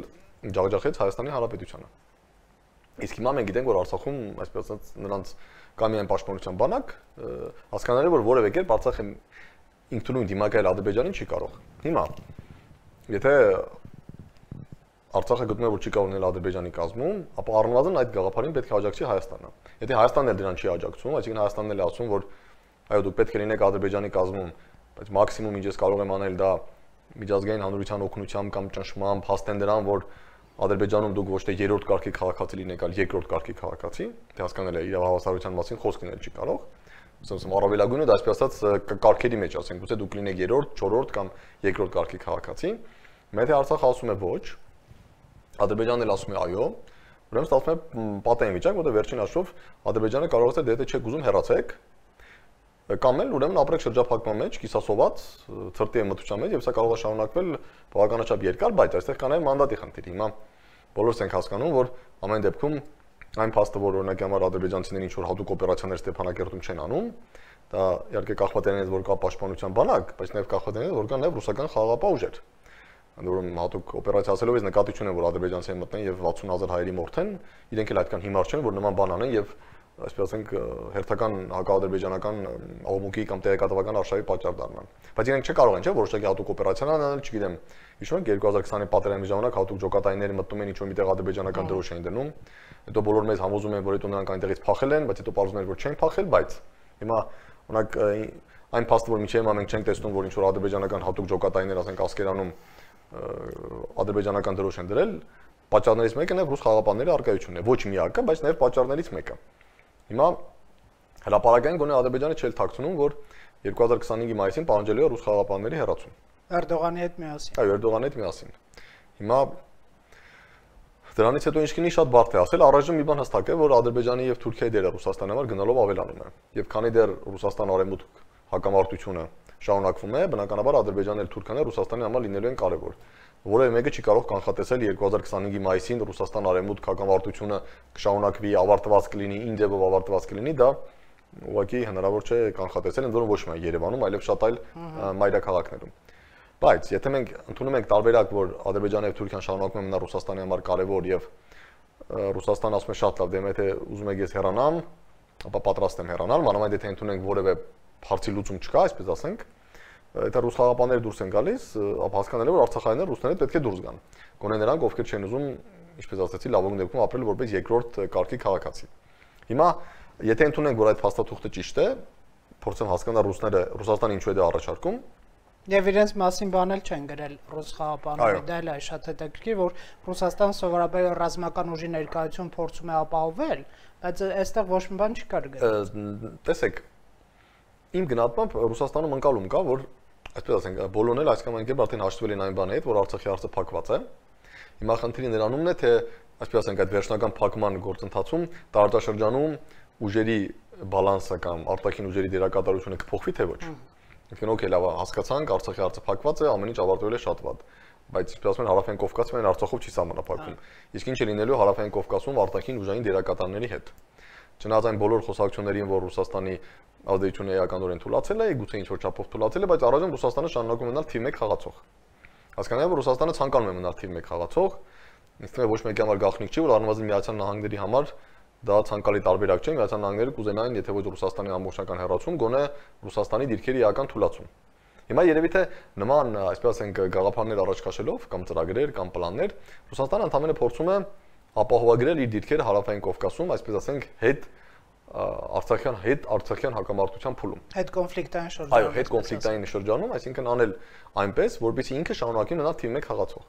ջախջախեց Հայաստանի Հանրապետությանը։ Իսկ հիմա մենք գիտենք, որ Արցախում, այսպես ասած, նրանց կա միայն պաշտպանության բանակ, հասկանալի որ որևէ կերպ Արցախը ինքնուրույն դիմակայել Ադրբեջանին չի կարող։ Հիմա, եթե Արցախը գտնում է, որ չի կարող լինել Ադրբեջանի կազմում, ապա առնվազն այդ գաղափարին պետք է աջակցի Հայաստանը։ Եթե Հայաստանն էլ դրան չի աջակցում, այսինքն Հայաստանն էլ ասում, որ այո, դուք պետք է լինեք Ադրբեջանի կազմում, բայց մաքսիմում ինչ ես կարող եմ անել դա միջազգային հանրության օգնությամբ կամ ճնշմամբ հաստեն դրան, որ Ադրբեջանում դուք ոչ թե երրորդ կարգի քաղաքացի լինեք, այլ երկրորդ կարգի քաղաքացի, թե հասկանալ է իրավահավասարության մասին խոսք լինել չի կարող։ Ասում առավելագույնը դա այսպես ասած կարգերի մեջ ասենք, գուցե դուք լինեք երրորդ, չորրորդ կամ երկրորդ կարգի քաղաքացի։ Եթե Արցախը ասում է ոչ, Ադրբեջանն էլ ասում է այո, ուրեմն ստացվում է պատային վիճակ, որտեղ վերջին հաշվով Ադրբեջանը կարող է դե եթե չեք ուզում հեռացեք, կամ էլ ուրեմն ապրեք շրջափակման մեջ, կիսասոված, ցրտի մթության մեջ, եւ սա կարող է շարունակվել բավականաչափ երկար, բայց այստեղ կա նաեւ մանդատի խնդիր։ Հիմա բոլորս ենք հասկանում, որ ամեն դեպքում այն փաստը, որ օրինակ համար ադրբեջանցիները ինչ որ հատուկ օպերացիաներ Ստեփանակերտում չեն անում, դա իհարկե կախված է նրանից, որ կա պաշտպանության բանակ, բայց նաեւ կախված է նրանից, որ կա նաեւ ռուսական խաղաղապահ ուժեր։ Անդորում հատուկ օպերացիա ասելով ես նկատի չունեմ, որ ադրբեջանցիները մտնեն եւ վաթսուն հազար հայերի մորթեն, իրենք էլ այդքան հիմար չեն, որ նման բան անեն եւ այսպես ասենք հերթական հակաադրբեջանական աղմուկի կամ տեղեկատվական արշավի պատճառ դառնան։ Բայց իրենք չկարող են, չէ՞, որոշակի հատուկ օպերացիաներ անել, չգիտեմ, հիշում եք երկու հազար քսանի պատերազմի ժամանակ հատուկ ջոկատայինները մտնում են ինչ-որ միտեղ ադրբեջանական դրոշ էին դնում, հետո բոլոր մեզ համոզում են, որ հետո նրանք այնտեղից փախել են, բայց հետո պարզվում էր, որ չեն փախել, բայց հիմա օրինակ այն փաստը, որ միջև մենք չենք տեսնում, որ ինչ-որ ադրբեջանական հատուկ ջոկատայիններ, ասենք Ասկերանում ադրբեջանական դրոշ են դրել, պատճառներից մեկը նաև ռուս խաղաղապահների առկայությունն է, ոչ միակը, բայց նաև պատճառներից մեկը։ Հիմա հրապարակային գոնե Ադրբեջանը չէլ թաքցնում, որ երկու հազար քսանհինգի մայիսին պահանջելու է ռուս խաղաղապահների հեռացում։ Էրդողանի հետ միասին։ Այո, Էրդողանի հետ միասին։ Հիմա դրանից հետո ինչ կինի շատ բարդ է ասել, առայժմ մի բան հստակ է, որ Ադրբեջանի եւ Թուրքիայի դերը Ռուսաստանի համար գնալով ավելանում է։ Եվ քանի դեռ Ռուսաստան-Արևմուտք հակամարտությունը շարունակվում է, բնականաբար Ադրբեջանն եւ Թուրքիան Ռուսաստանի համար լինելու են կարևոր։ Որևէ մեկը չի կարող կանխատեսել երկու հազար քսանհինգի մայիսին Ռուսաստան-Արևմուտք հակամարտությունը կշարունակվի, ավարտված կլինի, ինդեպով ավարտված կլինի, դա ուղղակի հնարավոր չէ կանխատեսել, ընդ որում ոչ միայն Երևանում, այլև շատ այլ մայրաքաղաքներում։ Բայց եթե մենք ընդունում ենք տարբերակ, որ Ադրբեջանը եւ Թուրքիան շարունակում են մնալ Ռուսաստանի համար կարևոր եւ Ռուսաստանը ասում է շատ լավ, դե եթե ուզում եք ես հեռանամ, ապա պատրաստ եմ հեռանալ, մանավանդ եթե ընդունենք որևէ հարցի լուծում չկա, այսպես ասենք, եթե ռուս խաղաղապահները դուրս են գալիս, ապա հասկանալի է, որ արցախայինները ռուսները պետք է դուրս գան։ Գոնե նրանք, ովքեր չեն ուզում, ինչպես ասացի, լավագույն դեպքում ապրել որպես երկրորդ կարգի քաղաքացի։ Հիմա, եթե ընդունենք, որ այդ փաստաթուղթը ճիշտ է, փորձեմ հասկանալ ռուսները Ռուսաստանը ինչու է դա առաջարկում, եւ իրենց մասին բան էլ չեն գրել ռուս խաղաղապահները, դա էլ է շատ հետաքրքիր, որ Ռուսաստանը սովորաբար ռազմական ուժի ներկայություն փորձում է ապահովել, բայց այստեղ ոչ մի բան չի կար գրել։ Տեսեք, իմ գնահատմամբ Ռուսաստանում ընկալում կա, որ այսպես ասենք, բոլորն էլ այսքան կերպ արդեն հաշտվել են այն բանի հետ, որ Արցախի հարցը փակված է։ Հիմա խնդիրը նրանումն է, թե այսպես ասենք, այդ վերջնական փակման գործընթացում տարածաշրջանում ուժերի բալանսը կամ արտաքին ուժերի դերակատարությունը կփոխվի թե ոչ։ Ինքն օքեյ լավ հասկացանք, Արցախի հարցը փակված է, ամեն ինչ ավարտվել է շատ վատ։ Բայց ինչպես ասում են, Հարավային Կովկասը միայն Արցախով չի սահմանափակվում։ Իսկ ինչ է լինելու Հարավային Կովկասում արտաքին ուժային դերակատարների հետ։ Չնայած այն բոլոր խոսակցություններին, որ Ռուսաստանի ազդեցությունը էականորեն թույլատրել է, գուցե ինչ-որ չափով թույլատրել է, բայց առայժմ Ռուսաստանը շարունակում է մնալ թիվ մեկ խաղացող։ Հասկանալի է, որ Ռուսաստանը ցանկանում է մնալ թիվ մեկ խաղացող, ինձ թվում է ոչ մեկի համար գաղտնիք չի, որ առնվազն Միացյալ Նահանգների համար դա ցանկալի տարբերակ չէ, Միացյալ Նահանգները կուզենային, եթե ոչ Ռուսաստանի ամբողջական հեռացում, գոնե Ռուսաստանի դիրքերի էական թույլատրում։ Հիմա երևի թե նման, այսպես ասենք, գաղափարներ առաջ քաշելով կամ ծրագրեր կամ պլաններ, Ռուսաստանը ընդհանրապես փորձում է ապահովագրել իր դիրքերը Հարավային Կովկասում, այսպես ասենք, հետ Արցախյան հետ Արցախյան հակամարտության փուլում։ Հետ կոնֆլիկտային շրջանում։ Այո, հետ կոնֆլիկտային շրջանում, այսինքն անել այնպես, որպեսզի ինքը շարունակի մնալ թիվ մեկ խաղացող։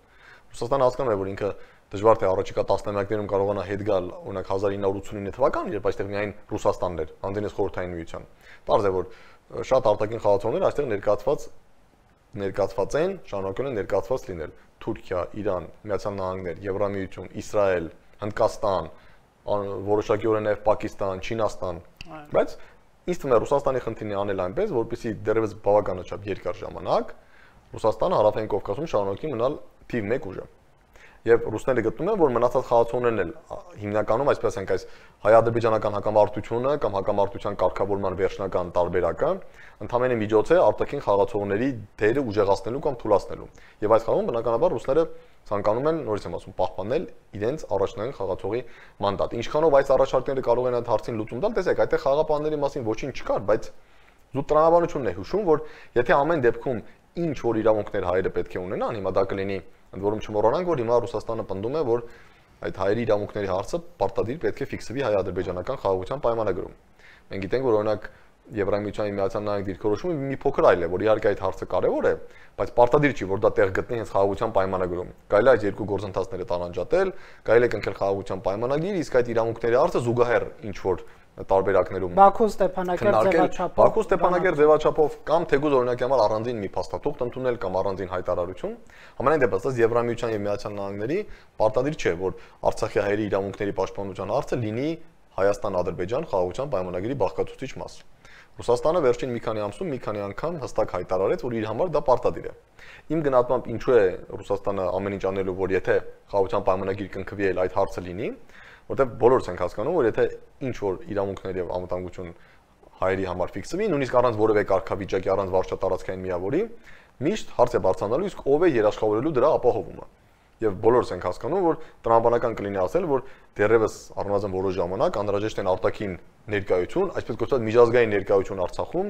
Ռուսաստանը հասկանում է, որ ինքը դժվար թե առաջիկա տասնամյակներում կարողանա հետ գալ, օրինակ հազար ինը հարյուր ութսունինը թվական, երբ այստեղ միայն Ռուսաստանն էր, անդենես Խորհրդային Միության։ Պարզ է, որ շատ արտաքին խաղացողներ այստեղ ներկայացված ներկայացված են, շարունակում են ներկայացված լինել։ Թուրքիա, Իրան, Միացյալ Նահանգներ, Եվրամիություն, Իսրայել, Հնդկաստան, որոշակիորեն նաև Պակիստան, Չինաստան, բայց ինձ թվում է Ռուսաստանի խնդիրն է անել այնպես, որպեսզի դեռևս բավականաչափ երկար ժամանակ Ռուսաստանը հարավային Կովկասում շարունակի մնալ թիվ մեկ ուժը։ Եվ ռուսները գտնում են, որ մնացած խաղացողներն էլ հիմնականում այսպես ենք այս հայ-ադրբեջանական հակամարտությունը կամ հակամարտության կարգավորման վերջնական տարբերակը ընդհանրապես միջոց է արտաքին խաղացողների դերը ուժեղացնելու կամ թուլացնելու։ Եվ այս խաղում բնականաբար ռուսները ցանկանում են, նորից եմ ասում, պահպանել իրենց առաջնային խաղացողի մանդատը։ Ինչքանով այս առաջարկները կարող են այդ հարցին լուծում տալ, տեսեք, այդտեղ խաղապանների մասին ոչինչ չկար, բայց զուտ տրամաբանությունն է հուշում, որ եթե ամեն դեպքում ինչ որ իրավունքներ հայերը պետք է ունենան, հիմա դա կլինի, ընդ որում չմոռանանք, որ հիմա Ռուսաստանը պնդում է, որ այդ հայերի իրավունքների հարցը պարտադիր պետք է ֆիքսվի հայ-ադրբեջանական խաղաղության պայմանագրում։ Մենք գիտենք, որ օրինակ Եվրամիության Միացյալ Նահանգների դիրքորոշումը մի փոքր այլ է, որ իհարկե այդ հարցը կարևոր է, բայց պարտադիր չի, որ դա տեղ գտնի հենց խաղաղության պայմանագրում։ Կարելի է այս երկու գործընթացները տարանջատել, կարելի է կնքել խաղաղության պայմանագիր, իսկ այդ իրավունքների հարցը զուգահեռ ինչ որ տարբերակներում Բաքու Ստեփանակերտ ձևաչափով Բաքու Ստեփանակերտ ձևաչափով կամ թեկուզ օրինակի համար առանձին մի փաստաթուղթ ընդունել կամ առանձին հայտարարություն, ամենայն դեպս ըստ Եվրամիության եւ Միացյալ Նահանգների պարտադիր չէ, որ Արցախի հայերի իրավունքների պաշտպանության հարցը լինի Հայաստան-Ադրբեջան խաղաղության պայմանագրի բաղկացուցիչ մաս։ Ռուսաստանը վերջին մի քանի ամսում մի քանի անգամ հստակ հայտարարեց, որ իր համար դա պարտադիր է։ Իմ գնահատմամբ ինչու է Ռուսաստանը ամեն ինչ անելու, որ եթե խաղաղության պայմանագիր կնքվի, այլ այդ հարցը լինի, որտեղ բոլորս ենք հասկանում, որ եթե ինչ որ իրավունքներ եւ անվտանգություն հայերի համար ֆիքսվի, նույնիսկ առանց որևէ կարգավիճակի, առանց վարչատարածքային միավորի, միշտ հարց է բարձրանալու, իսկ ով է երաշխավորելու դրա ապահովումը։ Եվ բոլորս ենք հասկանում, որ տրամաբանական կլինի ասել, որ դեռևս առնվազն որոշ ժամանակ անհրաժեշտ են արտաքին ներկայություն, այսպես կոչված միջազգային ներկայություն Արցախում,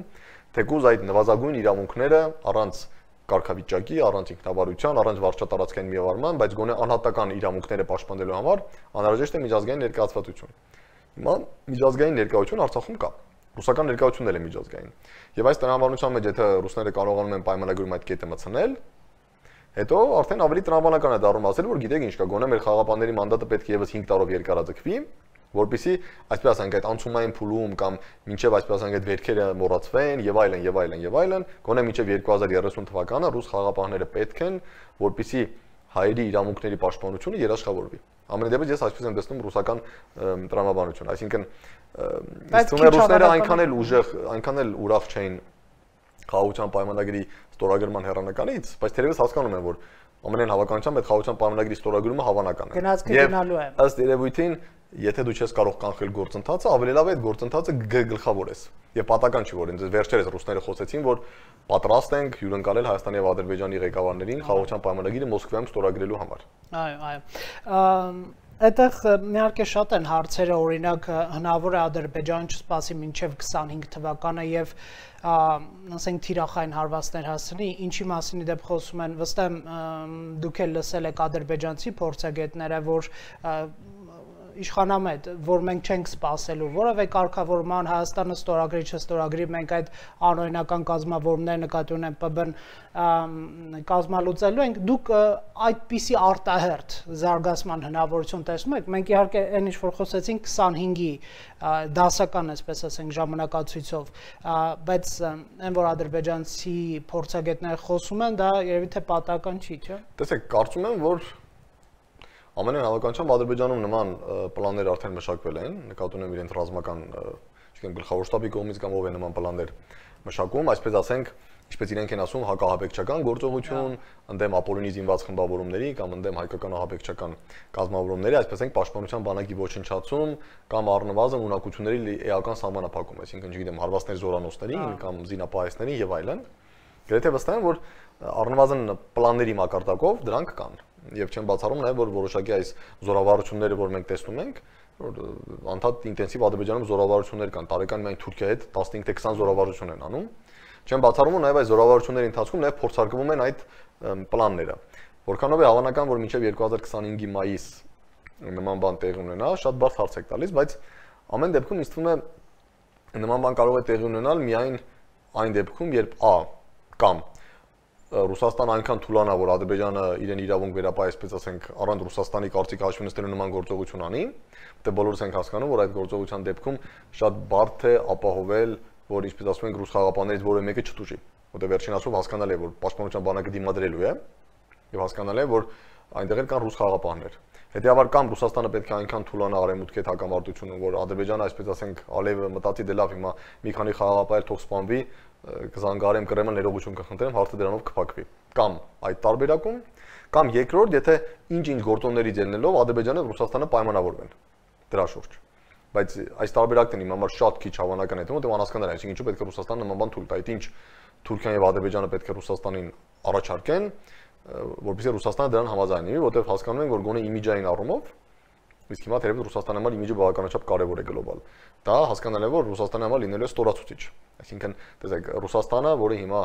թեկուզ այդ նվազագույն իրավունքները առանց կարգավիճակի, առանց ինքնավարության, առանց վարչատարածքային միավորման, բայց գոնե անհատական իրավունքները պաշտպանելու համար անհրաժեշտ է միջազգային ներկայացվածություն։ Հիմա միջազգային ներկայություն Արցախում կա։ Ռուսական ներկայությունն էլ է միջազգային։ Եվ այս տրամաբանության մեջ եթե ռուսները կարողանում են պայմանագրում այդ կետը մտցնել, հետո արդեն ավելի տրամաբանական է դառնում ասել, որ գիտեք ինչ կա, գոնե մեր խաղապանների մանդատը պետք է եւս հինգ տարով երկարաձգվի, որպեսզի այսպես ասենք այդ անցումային փուլում կամ մինչև այսպես ասենք այդ վերքերը մոռացվեն եւ այլն եւ այլն եւ այլն, գոնե մինչև երկու հազար երեսուն թվականը ռուս խաղապահները պետք են, որպեսզի հայերի իրավունքների պաշտպանությունը երաշխավորվի։ Ամենայն դեպս ես այսպես եմ տեսնում ռուսական տրամաբանությունը, այսինքն ինձ թվում է ռուսները այնքան էլ ուժեղ, այնքան էլ ուրախ չէին խաղաղության պայմանագրի ստորագրման հեռանկարից, բայց թերևս հասկանում են, որ ամենայն հավանականությամբ այդ խաղաղության պայմանագրի ստորագրումը հավանական է։ Գնացքը գնալու է։ Ըստ երևույթին, եթե դու չես կարող կանխել գործընթացը, ավելի լավ է այդ գործընթացը գլխավորես։ Եվ պատական չի, որ ինձ վերջերս ռուսները խոսեցին, որ պատրաստ ենք հյուրընկալել Հայաստանի եւ Ադրբեջանի ղեկավարներին խաղաղության պայմանագիրը Մոսկվայում ստորագրելու համար։ Այո, այո։ Այդտեղ իհարկե շատ են հարցերը, օրինակ հնարավոր է Ադրբեջանը չսպասի մինչև քսանհինգ թվականը եւ ասենք թիրախային հարվածներ հասցնի, ինչի մասին դեպ խոսում են, վստահ եմ դուք էլ լսել եք ադրբեջանցի փորձագետները, որ իշխանամետ, որ մենք չենք սպասելու որևէ կարգավորման, Հայաստանը ստորագրի չստորագրի, մենք այդ անօրինական կազմավորումներ նկատի ունեն Պ B-ն կազմալուծելու ենք, դուք այդպիսի արտահերթ զարգացման հնարավորություն տեսնում եք, մենք իհարկե այն ինչ որ խոսեցինք քսանհինգի դասական, այսպես ասենք, ժամանակացույցով, բայց այն որ ադրբեջանցի փորձագետները խոսում են, դա երևի թե պատահական չի, չէ՞։ Տեսեք, կարծում եմ, որ ամենայն հավանականությամբ Ադրբեջանում նման պլաններ արդեն մշակվել են, նկատի ունեմ իրենց ռազմական, չգիտեմ, գլխավոր շտաբի կողմից կամ ով է նման պլաններ մշակում, այսպես ասենք, ինչպես իրենք են ասում, հակահաբեկչական գործողություն, ընդդեմ ապօրինի զինված խմբավորումների կամ ընդդեմ հայկական ահաբեկչական կազմավորումների, այսպես ասենք, պաշտպանության բանակի ոչնչացում կամ առնվազն ունակությունների էական սահմանափակում, այսինքն, չգիտեմ, հարվածներ զորանոցներին կամ զինապահեսներին եւ այլն։ Գրեթե վստահ եմ, որ առնվազն պլանների մակարդակով դրանք կան։ Եվ չեմ բացառում նաև, որ որոշակի այս զորավարությունները, որ մենք տեսնում ենք, որ անդադ ինտենսիվ Ադրբեջանում զորավարություններ կան, տարեկան միայն Թուրքիայի հետ տասնհինգ թե քսան զորավարություն են անում։ Չեմ բացառում, նաև այս զորավարությունների ընթացքում նաև փորձարկվում են այդ պլանները։ Որքանով է հավանական, որ մինչև երկու հազար քսանհինգի մայիս նման բան տեղի ունենա, շատ բարդ հարց եք տալիս, բայց ամեն դեպքում ինձ թվում է նման բան կարող է տեղի ունենալ միայն այն դեպքում, երբ ա կամ Ռուսաստանը այնքան թուլանա, որ Ադրբեջանը իրեն իրավունք վերապահի, այսպես ասենք, առանց Ռուսաստանի կարծիք հաշվի նստելու նման գործողություն անի, դե բոլորս ենք հասկանում, որ այդ գործողության դեպքում շատ բարդ է ապահովել, որ ինչպես ասում ենք, ռուս խաղապաններից որևէ մեկը չտուժի, որտեղ վերջին ասում հասկանալի է, որ պաշտպանության բանակը դիմադրելու է, եւ հասկանալի է, որ այնտեղ էլ կան ռուս խաղապահներ։ Հետևաբար կամ Ռուսաստանը պետք է այնքան թուլանա արևմուտքի հետ հակամարտությունը, որ Ադրբեջանը, այսպես ասենք, Ալիևը մտածի դե լավ, հիմա մի քանի խաղաղապահ թող սպանվի, կզանգարեմ Կրեմը ներողություն կխնդրեմ, հարցը դրանով կփակվի։ Կամ այդ տարբերակում, կամ երկրորդ, եթե ինչ-ինչ գործոններից ելնելով Ադրբեջանը եւ Ռուսաստանը պայմանավորվեն դրա շուրջ։ Բայց այս տարբերակն իմ համար շատ քիչ հավանական է թվում, որտեղ անհասկանալի է, այսինքն ինչու պետք է Ռուսաստանը նման բան թույլ տա, այդ ինչ Թուրքիան եւ Ադրբեջանը պետք է Ռուսաստանին առաջարկեն, որովհետեւ Ռուսաստանը դրան համաձայնի, որտեղ հասկանում են, որ գոնե իմիջային առումով, իսկ հիմա թերևս Ռուսաստանի համար իմիջը բավականաչափ կարևոր է գլոբալ։ Դա հասկանալի է, որ Ռուսաստանի համար լինելու է ստորացուցիչ։ Այսինքն, տեսեք, Ռուսաստանը, որը հիմա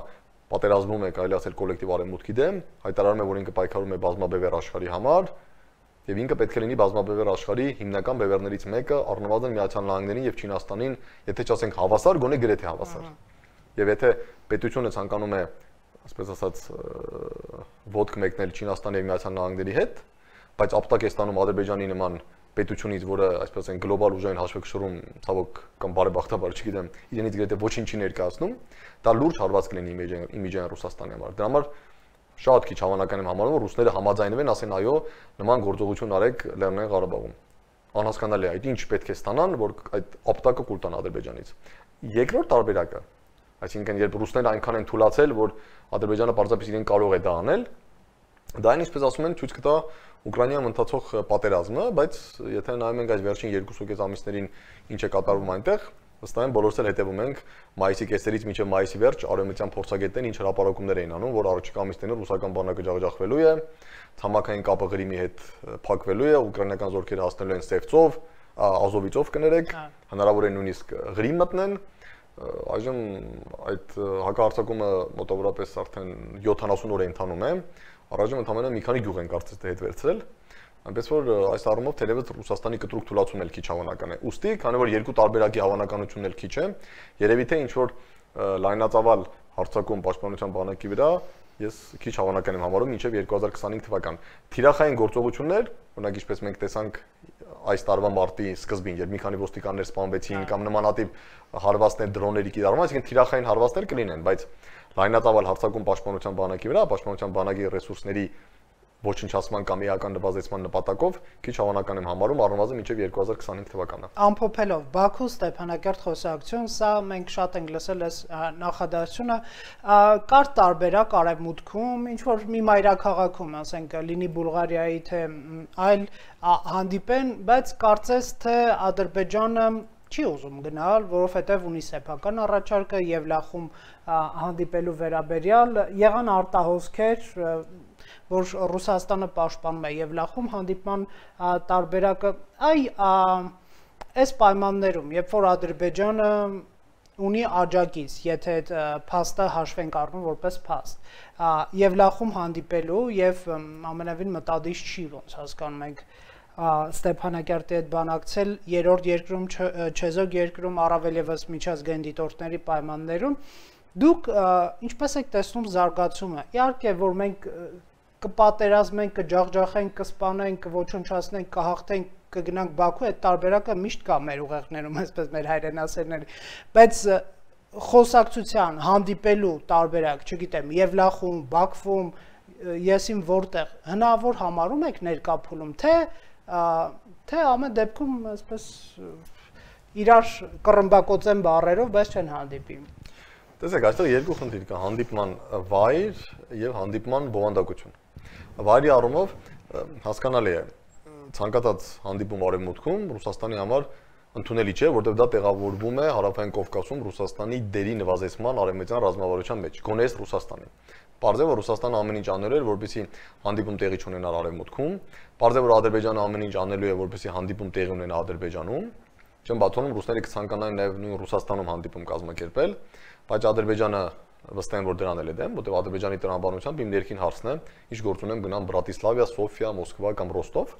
պատերազմում է, կարելի ասել կոլեկտիվ արևմուտքի դեմ, հայտարարում է, որ ինքը պայքարում է բազմաբևեռ աշխարհի համար, եւ ինքը պետք է լինի բազմաբևեռ աշխարհի հիմնական բևեռներից մեկը, առնվազն Միացյալ Նահանգներին եւ Չինաստանին, եթե չասենք հավասար, գոնե գրեթե հավասար։ Եվ եթե պետությունը ցանկանում է, ասպես ասած, ոդկ մեկնել Չինաստանի եւ Միացյալ Նահանգների հետ, բայց ապտակ է ստանում Ադրբեջանի նման պետությունից, որը, այսպես ասենք, գլոբալ ուժային հաշվեկշռում, ցավոք կամ բարեբախտաբար, չգիտեմ, իրենից գրեթե ոչինչ չի ներկայացնում, դա լուրջ հարված կլինի իմիջային Ռուսաստանի համար։ Դրա համար շատ քիչ հավանական եմ համարում, որ ռուսները համաձայնվեն, ասեն այո, նման գործողություն արեք Լեռնային Ղարաբաղում։ Անհասկանալի է, այդ ինչ պետք է ստանան, որ այդ ապտակը կուլ տան Ադրբեջանից։ Երկրորդ տարբերակը, այսինքն երբ ռուսները այնքան են թուլացել, որ Ադրբեջանը պարզապես իրեն կարող է դա անել, դա այն ինչպես ասում են, ցույց կտա Ուկրաինայում ընթացող պատերազմը, բայց եթե նայում ենք այս վերջին երկուսուկես ամիսներին ինչ է կատարվում այնտեղ, վստահ եմ բոլորս էլ հետևում ենք մայիսի կեսերից մինչև մայիսի վերջ արևմտյան փորձագետներն ինչ հրապարակումներ էին անում, որ առաջիկա ամիսներին ռուսական բանակը ջախջախվելու է, ցամաքային կապը Ղրիմի հետ փակվելու է, ուկրաինական զորքերը հասնելու են Սևծով, Ազովիցով կներեք, հնարավոր է նույնիսկ Ղրիմ մտնեն։ Այժմ այդ հակահարձակումը մոտավորապես արդեն յոթանասուն օր է ընթանում է, առայժմ ընդամենը մի քանի գյուղ են կարծես թե հետ վերցրել, այնպես որ այս առումով թերևս Ռուսաստանի կտրուկ թուլացումն էլ քիչ հավանական է։ Ուստի, քանի որ երկու տարբերակի հավանականությունն էլ քիչ է, երևի թե ինչ որ լայնածավալ հարձակում պաշտպանության բանակի վրա ես քիչ հավանական եմ համարում մինչև երկու հազար քսանհինգ թվական։ Թիրախային գործողություններ, օրինակ ինչպես մենք տեսանք այս տարվա մարտի սկզբին, երբ մի քանի ոստիկաններ սպանվեցին կամ նմանատիպ հարվածներ դրոնների կիրառում, այսինքն թիրախային հարվածներ կլինեն, բայց լայնածավալ հարձակում պաշտպանության բանակի վրա, պաշտպանության բանակի ռեսուրսների ոչնչացման կամ էական նվազեցման նպատակով քիչ հավանական եմ համարում առնվազն մինչև երկու հազար քսանհինգ թվականը։ Ամփոփելով Բաքու Ստեփանակերտ խոսակցություն, սա մենք շատ ենք լսել այս նախադասությունը, կար տարբերակ արևմուտքում, ինչ որ մի մայրաքաղաքում, ասենք, լինի Բուլղարիայի թե այլ հանդիպեն, բայց կարծես թե Ադրբեջանը չի ուզում գնալ, որովհետև ունի սեփական առաջարկը Եվլախում հանդիպելու վերաբերյալ եղան արտահոսքեր, որ Ռուսաստանը պաշտպանում է Եվլախում հանդիպման տարբերակը, այ այս պայմաններում, երբ որ Ադրբեջանը ունի աջակից, եթե այդ փաստը հաշվենք առնում որպես փաստ, Եվլախում հանդիպելու եւ ամենևին մտադիր չի, ոնց հասկանում ենք, Ստեփանակերտի հետ բանակցել երրորդ երկրում, չեզոք երկրում, առավել եւս միջազգային դիտորդների պայմաններում, դուք ինչպես եք տեսնում զարգացումը։ Իհարկե, որ մենք կպատերազմենք, կջախջախենք, կսպանենք, կոչնչացնենք, կհաղթենք, կգնանք Բաքու, այդ տարբերակը միշտ կա մեր ուղեղներում, այսպես մեր հայրենասերների, բայց խոսակցության, հանդիպելու տարբերակ, չգիտեմ, Եվլախում, Բաքվում, եսին որտեղ հնարավոր համարում եք ներկա փուլում, թե թե ամեն դեպքում այսպես իրար կռմբակոծեն բառերով, բայց չեն հանդիպի։ Տեսեք, այստեղ երկու խնդիր կա՝ հանդիպման վայր եւ հանդիպման բովանդակություն։ Վայրի առումով հասկանալի է, ցանկացած հանդիպում արևմուտքում Ռուսաստանի համար ընդունելի չէ, որտեղ դա տեղավորվում է Հարավային Կովկասում Ռուսաստանի դերի նվազեցման արևմտյան ռազմավարության մեջ, գոնե Ռուսաստանի։ Պարզ է, որ Ռուսաստանը ամեն ինչ անելու էր, որպեսզի հանդիպում տեղի չունենար արևմուտքում, պարզ է, որ Ադրբեջանը ամեն ինչ անելու է, որպեսզի հանդիպում տեղի ունենա Ադրբեջանում, չեմ բացառում ռուսները կցանկանային նաև նույն Ռուսաստանում հանդիպում կազմակերպել, բայց Ադրբեջանը վստահ եմ, որ դրան էլ է դեմ, որտեղ Ադրբեջանի տրամաբանությամբ իմ ներքին հարցն է, ինչ գործ ունեմ գնամ Բրատիսլավիա, Սոֆիա, Մոսկվա կամ Ռոստով։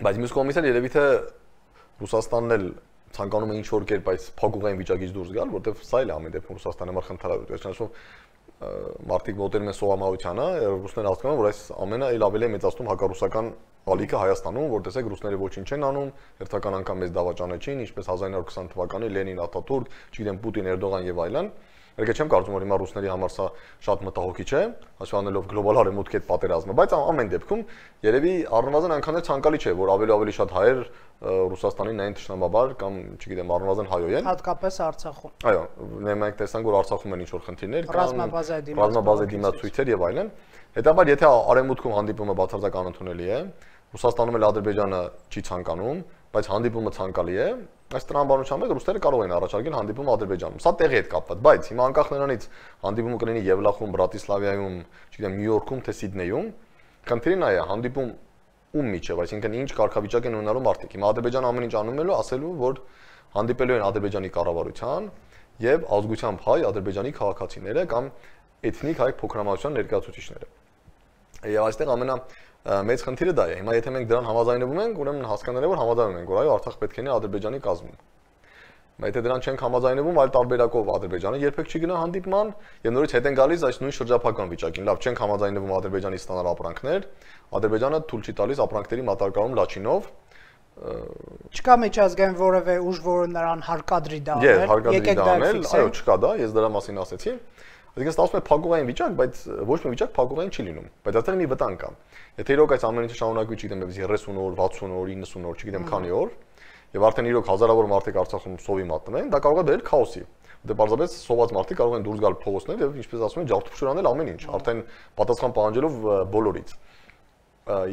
Բայց մյուս կողմից էլ երևի թե Ռուսաստանն էլ ցանկանում է ինչ-որ կերպ այս փակուղային վիճակից դուրս գալ, որտեղ սա էլ է ամեն դեպքում Ռուսաստանի համար խնդրալու է։ Այսինքն մարդիկ մոտենում են սովամահությանը, ռուսները հասկանում են, որ այս ամենը էլ ավելի է մեծացնում հակառուսական ալիքը Հայաստանում, որ տեսեք ռուսները ոչինչ չեն անում, հերթական անգամ մեզ դավաճանեցին, ինչպես հազար ինը հարյուր քսան թվականի Լենին, Աթաթուրք, չգիտեմ Պուտին, Էրդողան եւ այլն։ Եկե չեմ կարծում որ հիմա ռուսների համար սա շատ մտահոգիչ է, հաշվի առնելով գլոբալ արևմուտքի հետ պատերազմը, բայց ամեն դեպքում երևի առնվազն այնքան էլ ցանկալի չէ, որ ավելի ավելի շատ հայեր Ռուսաստանին նայեն թշնամաբար կամ, չգիտեմ, առնվազն հայոյեն։ Հատկապես Արցախում։ Այո, մենք տեսանք որ Արցախում են ինչ-որ խնդիրներ կան, ռազմաբազայի դիմացույցեր եւ այլն։ Հետաբար եթե արևմուտքում հանդիպումը բացարձակ անընդունելի է, Ռուսաստանում էլ Ադրբեջանը չի ցանկանում, բայց հանդիպումը ցանկալի է, այս տրամաբանությամբ էլ ռուսները կարող են առաջարկել հանդիպում Ադրբեջանում։ Սա տեղի հետ կապված, բայց հիմա անկախ նրանից հանդիպումը կլինի Եվլախում, Բրատիսլավայում, չգիտեմ, Նյու Յորքում, թե Սիդնեյում, խնդիրը նա է, հանդիպում ում միջև, այսինքն ինչ կարգավիճակ են ունենալու մարդիկ։ Հիմա Ադրբեջանը ամեն ինչ անում է, ասելու որ հանդիպելու են Ադրբեջանի կառավարության եւ ազգությամբ հայ Ադրբեջանի քաղաքացիները կամ էթնիկ հայ փոքրամասնության ներկայացուցիչները։ Եվ այստեղ ամենա մեծ խնդիրը դա է։ Հիմա եթե մենք դրան համաձայնվում ենք, ուրեմն հասկանալի է որ համաձայնվում ենք, որ այո, Արցախ պետք է լինի Ադրբեջանի կազմում։ Բայց եթե դրան չենք համաձայնվում, այլ տարբերակով Ադրբեջանը երբեք չի գնա հանդիպման եւ նորից հետ են գալիս այս նույն շրջափակման վիճակին։ Լավ, չենք համաձայնվում Ադրբեջանի ստանալ ապրանքներ, Ադրբեջանը թույլ չի տալիս ապրանքների մատակարարում Լաչինով։ Չկա միջազգային որևէ ուժ, որը նրան հարկադրի դա անել։ Եվ հարկադրի դա անել, այո, չկա դա, ես դրա մասին ասեցի։ Այսինքն ստացվում է փակուղային վիճակ, բայց ոչ մի վիճակ փակուղային չի լինում։ Բայց այստեղ մի վտանգ կա։ Եթե իրոք այս ամեն ինչը շարունակվի, չգիտեմ, երեսուն օր, վաթսուն օր, իննսուն օր, չգիտեմ քանի օր, եւ արդեն իրոք հազարավոր մարդիկ Արցախում սովի մատնվեն, դա կարող է բերել քաոսի։ Դե պարզապես սոված մարդիկ կարող են դուրս գալ փողոցներ եւ ինչպես ասում են, ջարդափշուր անել ամեն ինչ, արդեն պատասխան պահանջելով բոլորից։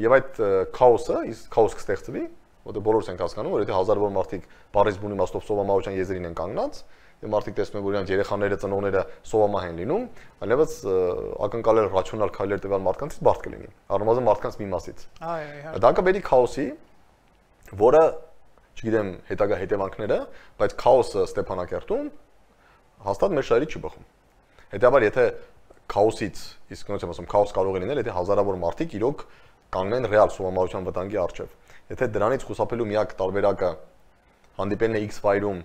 Եվ այդ քաոսը, իսկ քաոս կստեղծվի, որտեղ բոլորս ենք հասկանում, որ եթե հազարավոր մարդիկ բարից բուն իմաստով սովամահության եզրին են կանգնած, եւ մարդիկ տեսնում են, որ իրանք երեխաները, ծնողները սովամահ են լինում, այլևս ակնկալել ռացիոնալ քայլեր տվյալ մարդկանցից բարդ կլինի։ Առնվազն մարդկանց մի մասից։ Այո, այո։ Դա կբերի քաոսի, որը, չգիտեմ, հետագա հետևանքները, բայց քաոսը Ստեփանակերտում հաստատ մեր շահերից չի բխում։ Հետեւաբար, եթե քաոսից, իսկ ոնց եմ ասում, քաոս կարող է լինել, եթե հազարավոր մարդիկ իրոք կանգնեն ռեալ սովամահության վտանգի առջև։ Եթե դրանից խուսափելու միակ տարբերակը հանդիպելն է X վայրում,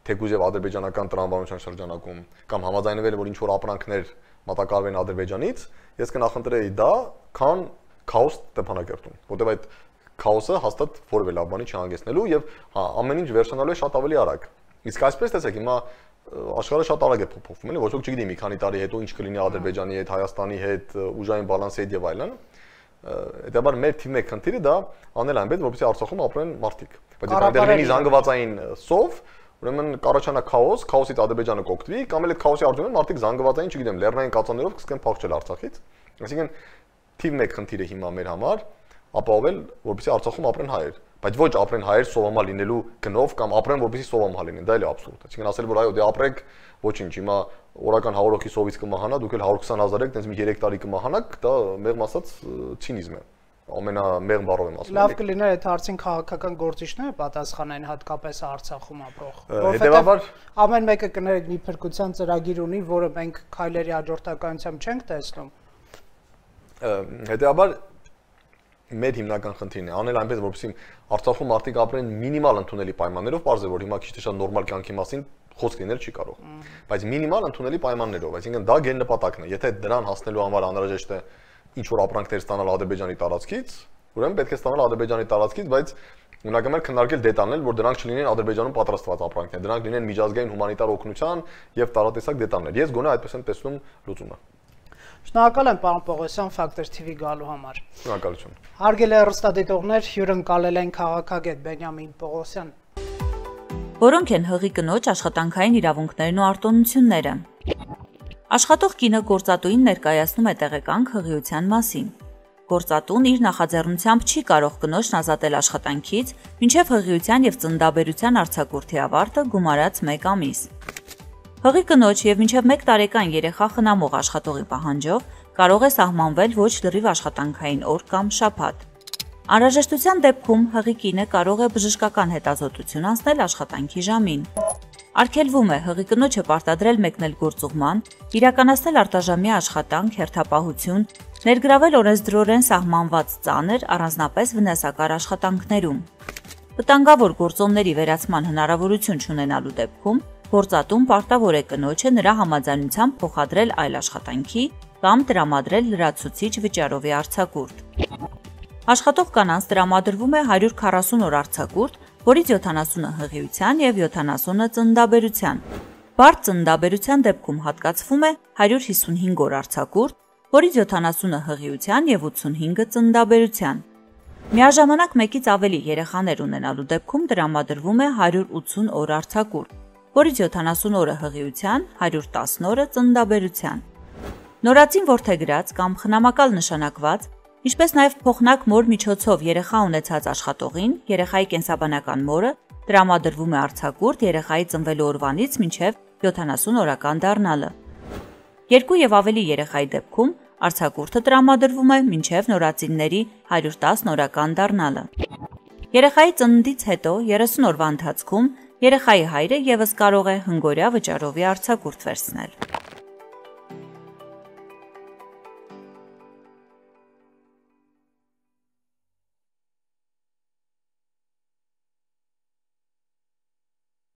թեկուզ եւ ադրբեջանական տրամաբանության շրջանակում կամ համաձայնվել որ ինչ որ ապրանքներ մատակարարվեն Ադրբեջանից, ես կնախընտրեի դա, քան քաոս Ստեփանակերտում, որտեղ այդ քաոսը հաստատ որևէ լավ բանի չհանգեցնելու եւ ամեն ինչ վերջանալու է շատ ավելի արագ։ Իսկ այսպես տեսեք, հիմա աշխարհը շատ արագ է փոփոխվում, էլի, ոչ ոք չգիտի մի քանի տարի հետո ինչ կլինի Ադրբեջանի հետ, Հայաստանի հետ, ուժային բալանսի հետ եւ այլն։ Հետաբար մեր թիմի մեկ խնդիրը դա անել այնպես, որպեսզի Արցախում ապրեն մարդիկ։ Բայց եթե այնտեղ լինի զանգվածային սով, ուրեմն կառաջանա քաոս, քաոսից Ադրբեջանը կօգտվի, կամ էլ այդ քաոսի արդյունքում մարդիկ զանգվածային, չգիտեմ, լեռնային կածաններով կսկեն փախչել Արցախից։ Այսինքն թիվ մեկ խնդիրը հիմա մեր համար ապահովել, որպեսզի Արցախում ապրեն հայեր, բայց ոչ ապրեն հայեր սովամահ լինելու գնով կամ ապրեն որպեսզի սովամահ լինեն, դա էլ է աբսուրդ։ Այսինքն ասել որ այո, դե ապրեք, ոչինչ, հիմա օրական հարյուր հոգի սովից կմահանա, դուք էլ հարյուր քսան հազար եք, տենց մի երեք տարի կմահանաք, դա մեղմ ասած ցինիզմ է։ Ամենամեղմ բառով եմ ասում։ Լավ կլիներ այդ հարցին քաղաքական գործիչները պատասխանեն հատկապես Արցախում ապրող։ Հետևաբար ամեն մեկը կներեք մի փրկության ծրագիր ունի, որը մենք քայլերի հաջորդականությամբ չենք տեսնում։ Հետևաբար մեր հիմնական խնդիրն է անել այնպես, որպեսզի Արցախում մարդիկ ապրեն մինիմալ ընդունելի պայմաններով, բարձր է որ հիմա քիչ թե շատ նորմալ կյանքի մասին խոսք լինել չի կարող, բայց մինիմալ ընդունելի պայմաններով, այսինքն դա գեն նպատակն է։ Եթե դրան հասնելու համար անհրաժեշտ է ինչ որ ապրանքներ ստանալ Ադրբեջանի տարածքից, ուրեմն պետք է ստանալ Ադրբեջանի տարածքից, բայց ունակամեր քննարկել դետալներ, որ դրանք չլինեն Ադրբեջանում պատրաստված ապրանքներ, դրանք լինեն միջազգային հումանիտար օգնության եւ տարատեսակ դետալներ։ Ես գոնե այդպես եմ տեսնում լուծումը։ Շնորհակալ եմ պարոն Պողոսյան Factor T V գալու համար։ Շնորհակալություն։ Հարգելի հեռուստադիտողներ, հյուրընկալել են քաղաքագետ Բենյամին Պողոսյան, որոնք են հղի կնոջ աշխատանքային իրավունքներն ու արտոնությունները։ Աշխատող կինը գործատուին ներկայացնում է տեղեկանք հղիության մասին։ Գործատուն իր նախաձեռնությամբ չի կարող կնոջն ազատել աշխատանքից, մինչև հղիության եւ ծննդաբերության արձակուրդի ավարտը գումարած մեկ ամիս։ Հղի կնոջ եւ մինչև մեկ տարեկան երեխա խնամող աշխատողի պահանջով կարող է սահմանվել ոչ լրիվ աշխատանքային օր կամ շաբաթ։ Անհրաժեշտության դեպքում հղի կինը կարող է բժշկական հետազոտություն անցնել աշխատանքի ժամին։ Արգելվում է հղի կնոջը պարտադրել մեկնել գործուղման, իրականացնել արտաժամյա աշխատանք, հերթապահություն, ներգրավել օրենսդրորեն սահմանված ծանր, առանձնապես վնասակար աշխատանքներում։ Վտանգավոր գործոնների վերացման հնարավորություն չունենալու դեպքում գործատուն պարտավոր է կնոջը նրա համաձայնությամբ փոխադրել այլ աշխատանքի կամ տրամադրել լրացուցիչ վճարովի արձակուրդ։ Աշխատող կանանց տրամադրվում է հարյուր քառասուն օր արձակուրդ, որից յոթանասունը հղիության և յոթանասունը ծննդաբերության։ Բարդ ծննդաբերության դեպքում հատկացվում է հարյուր հիսունհինգ օր արձակուրդ, որից յոթանասունը հղիության և ութսունհինգը ծննդաբերության։ Միաժամանակ մեկից ավելի երեխաներ ունենալու դեպքում տրամադրվում է հարյուր ութսուն օր արձակուրդ, որից յոթանասուն օրը հղիության, հարյուր տասն օրը ծննդաբերության։ Նորածին որդեգրած կամ խնամակալ նշանակված, ինչպես նաև փոխնակ մոր միջոցով երեխա ունեցած աշխատողին, երեխայի կենսաբանական մորը տրամադրվում է արձակուրդ երեխայի ծնվելու օրվանից մինչև յոթանասուն օրական դառնալը։ Երկու եւ ավելի երեխայի դեպքում արձակուրդը տրամադրվում է մինչև նորածինների հարյուր տասն օրական դառնալը։ Երեխայի ծննդից հետո երեսուն օրվա ընթացքում երեխայի հայրը եւս կարող է հնգօրյա վճարովի արձակուրդ վերցնել։